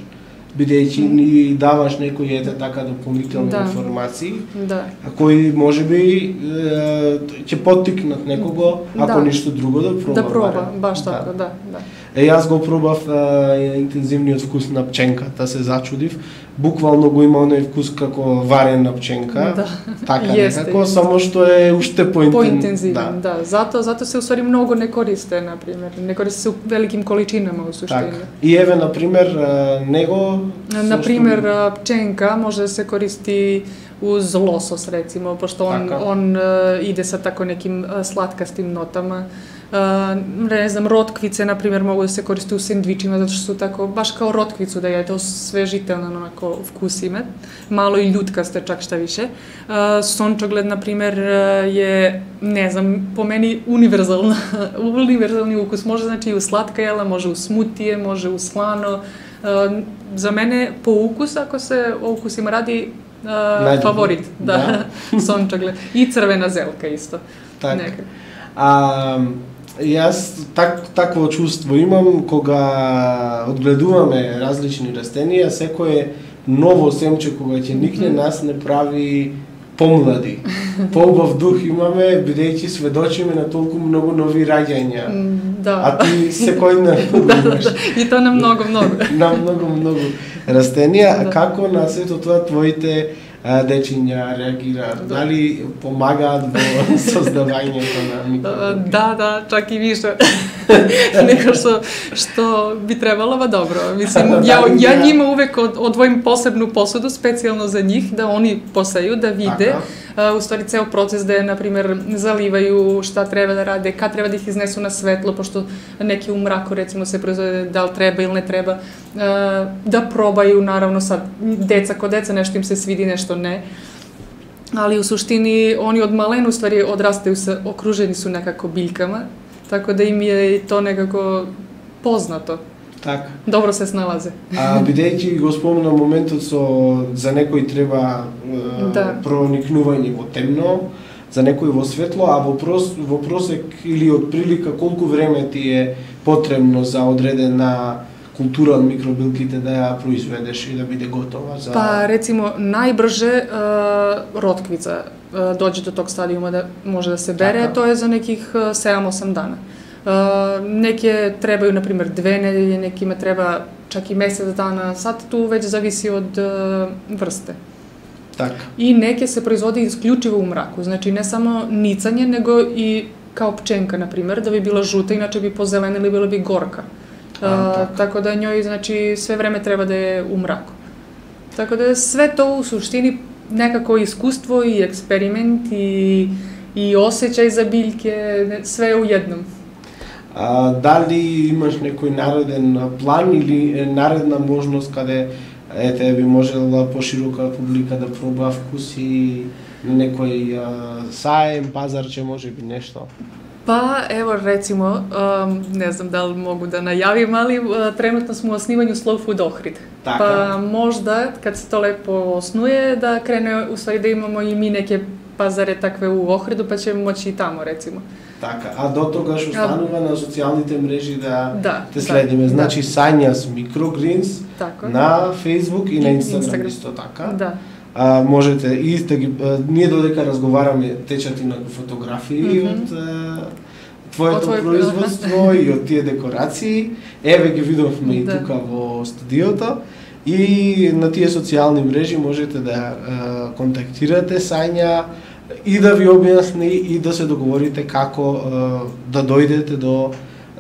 бидејќи ни даваш некои ете така дополнителни Да. информации, Da. а кои можеби е, ќе поттикнат некого, ако Да. ништо друго да проба. Da proba, барем. baš Да. tako, da, da. Е, јас го пробав е, интензивниот вкус на пченката, се зачудив. Буквално го има оној вкус како варена пченка. Да. Така Jeste, некако, jeste. само што е уште поинтен... Pointenzivan, da. Zato, zato se u stvari mnogo ne koriste, na primjer. Ne koriste se u velikim količinama u suštini. Така. И еве, например, е, него... Na со primjer, што- pčenka može da se koristi uz losos, recimo, pošto on, Така. on uh, ide sa tako nekim uh, slatkastim notama. Uh, ne znam, rotkvice, na primjer, mogu da se koriste u sendvičima, zato što su tako, baš kao rotkvicu da je to svežitelno, onako, vkus ima. Malo i ljutkaste, čak šta više. Uh, sončogled, na primjer, uh, je, ne znam, po meni univerzalna, univerzalni ukus. Može znači i u slatka jela, može u smutije, može u slano. Uh, za mene po ukusu, ako se o ukusima radi, uh, Najbolji. favorit, da, sončogled. I crvena zelka isto. Така. Neka. А, јас так, такво чувство имам кога одгледуваме различни растенија, секое ново семче кога ќе никне нас не прави помлади. Поубав дух имаме, бидејќи сведочиме на толку многу нови раѓања. Mm, Da. А ти секој ден имаш I to na mnogo, mnogo. на многу многу растенија. Да. Како на сето тоа твоите а, дечиња реагираат? Дали помагаат во создавањето на микробиоти? Da, da, čak i više nego što, što bi trebalo, ba dobro. Mislim, ja, ja njima uvek od, odvojim posebnu posudu, specijalno za njih, da oni poseju, da vide. Така. уствари цел процес да на пример заливају, шта треба да раде, кад треба да их изнесу на светло, пошто неки умрако рецимо се произведе дал треба или не треба, да пробају наравно сад деца ко деца нешто им се свиди, нешто не. Али у суштини они од мален уствари одрастају се окружени су некако билькама, така да им е и то некако познато. Така. Добро се сналазе. А бидејќи го спомна моментот со за некој треба е, да. проникнување во темно, за некој во светло, а вопрос во просек или од прилика колку време ти е потребно за одредена култура од микробилките да ја произведеш и да биде готова за... Па, рецимо, најбрже е, ротквица е, дојде до тог стадиума да може да се бере, така. Тоа е за неких седум-осум дана. Uh, неке требају, например, две недели, неки ме треба чак и месец дана, сад ту веќе зависи од uh, врсте. Така. И неке се производи исклучиво у мраку, значи не само ницање, него и као пченка, например, да би била жута, иначе би позелена или била би горка. А, uh, така. Така да њој, значи, све време треба да е у мраку. Така да све тоа у суштини некако искуство и експеримент и, и осеќај за билке, све у едном. А, дали имаш некој нареден план или наредна можност каде ете би можела поширока публика да проба вкуси на некој а, саем, пазарче, може би нешто? Па, ево, рецимо, не знам дали могу да најавим, али тренутно сме у основању Slow Food Охрид. Така. Па, можда, кад се то лепо оснуе, да крене, усвари да имамо и ми неке пазаре такве у Охриду, па ќе моќи и тамо, рецимо. Така, а до тогаш останува на социјалните мрежи да, да те следиме. Да, значи да. Санјас Microgreens така. На Facebook и на Instagram, Instagram. Исто така. Да. А, можете и да ги а, ние додека разговараме течат и на фотографии mm -hmm. од а, твоето твой... производство и од тие декорации. Еве ги видовме да. И тука во студиото. И на тие социјални мрежи можете да а, контактирате Сања и да ви објасни и да се договорите како а, да дојдете до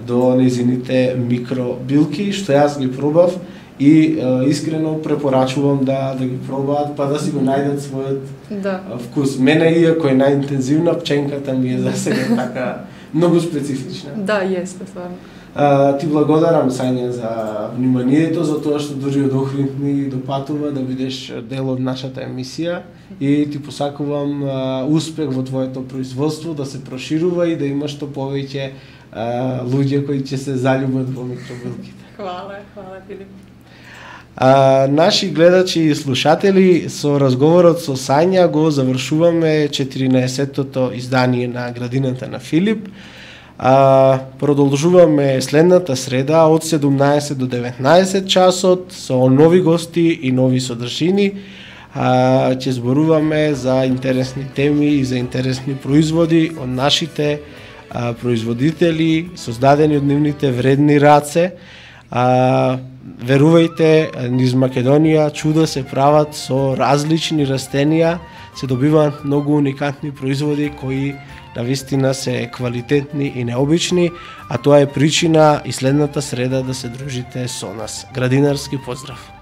до незините микробилки, што јас ги пробав и а, искрено препорачувам да да ги пробаат, па да си го најдат својот да. Вкус. Мене, иако е најинтензивна, пченката ми е за сега така многу специфична. Да, јесте, стварно. Uh, ти благодарам, Сања, за вниманието, за тоа што дури од Охрид ни допатува да бидеш дел од нашата емисија и ти посакувам uh, успех во твоето производство, да се проширува и да имаш што повеќе uh, луѓе кои ќе се заљубат во микробилките. Хвала, хвала, Филип. Uh, наши гледачи и слушатели, со разговорот со Сања го завршуваме четиринаесеттото издание на Градината на Филип. А, продолжуваме следната среда од седумнаесет до деветнаесет часот со нови гости и нови содржини. А, ќе зборуваме за интересни теми и за интересни производи од нашите а, производители, создадени од нивните вредни раце. А, верувајте, низ Македонија чуда се прават со различни растенија, се добиваат многу уникатни производи кои навистина се квалитетни и необични, а тоа е причина и следната среда да се дружите со нас. Градинарски поздрав!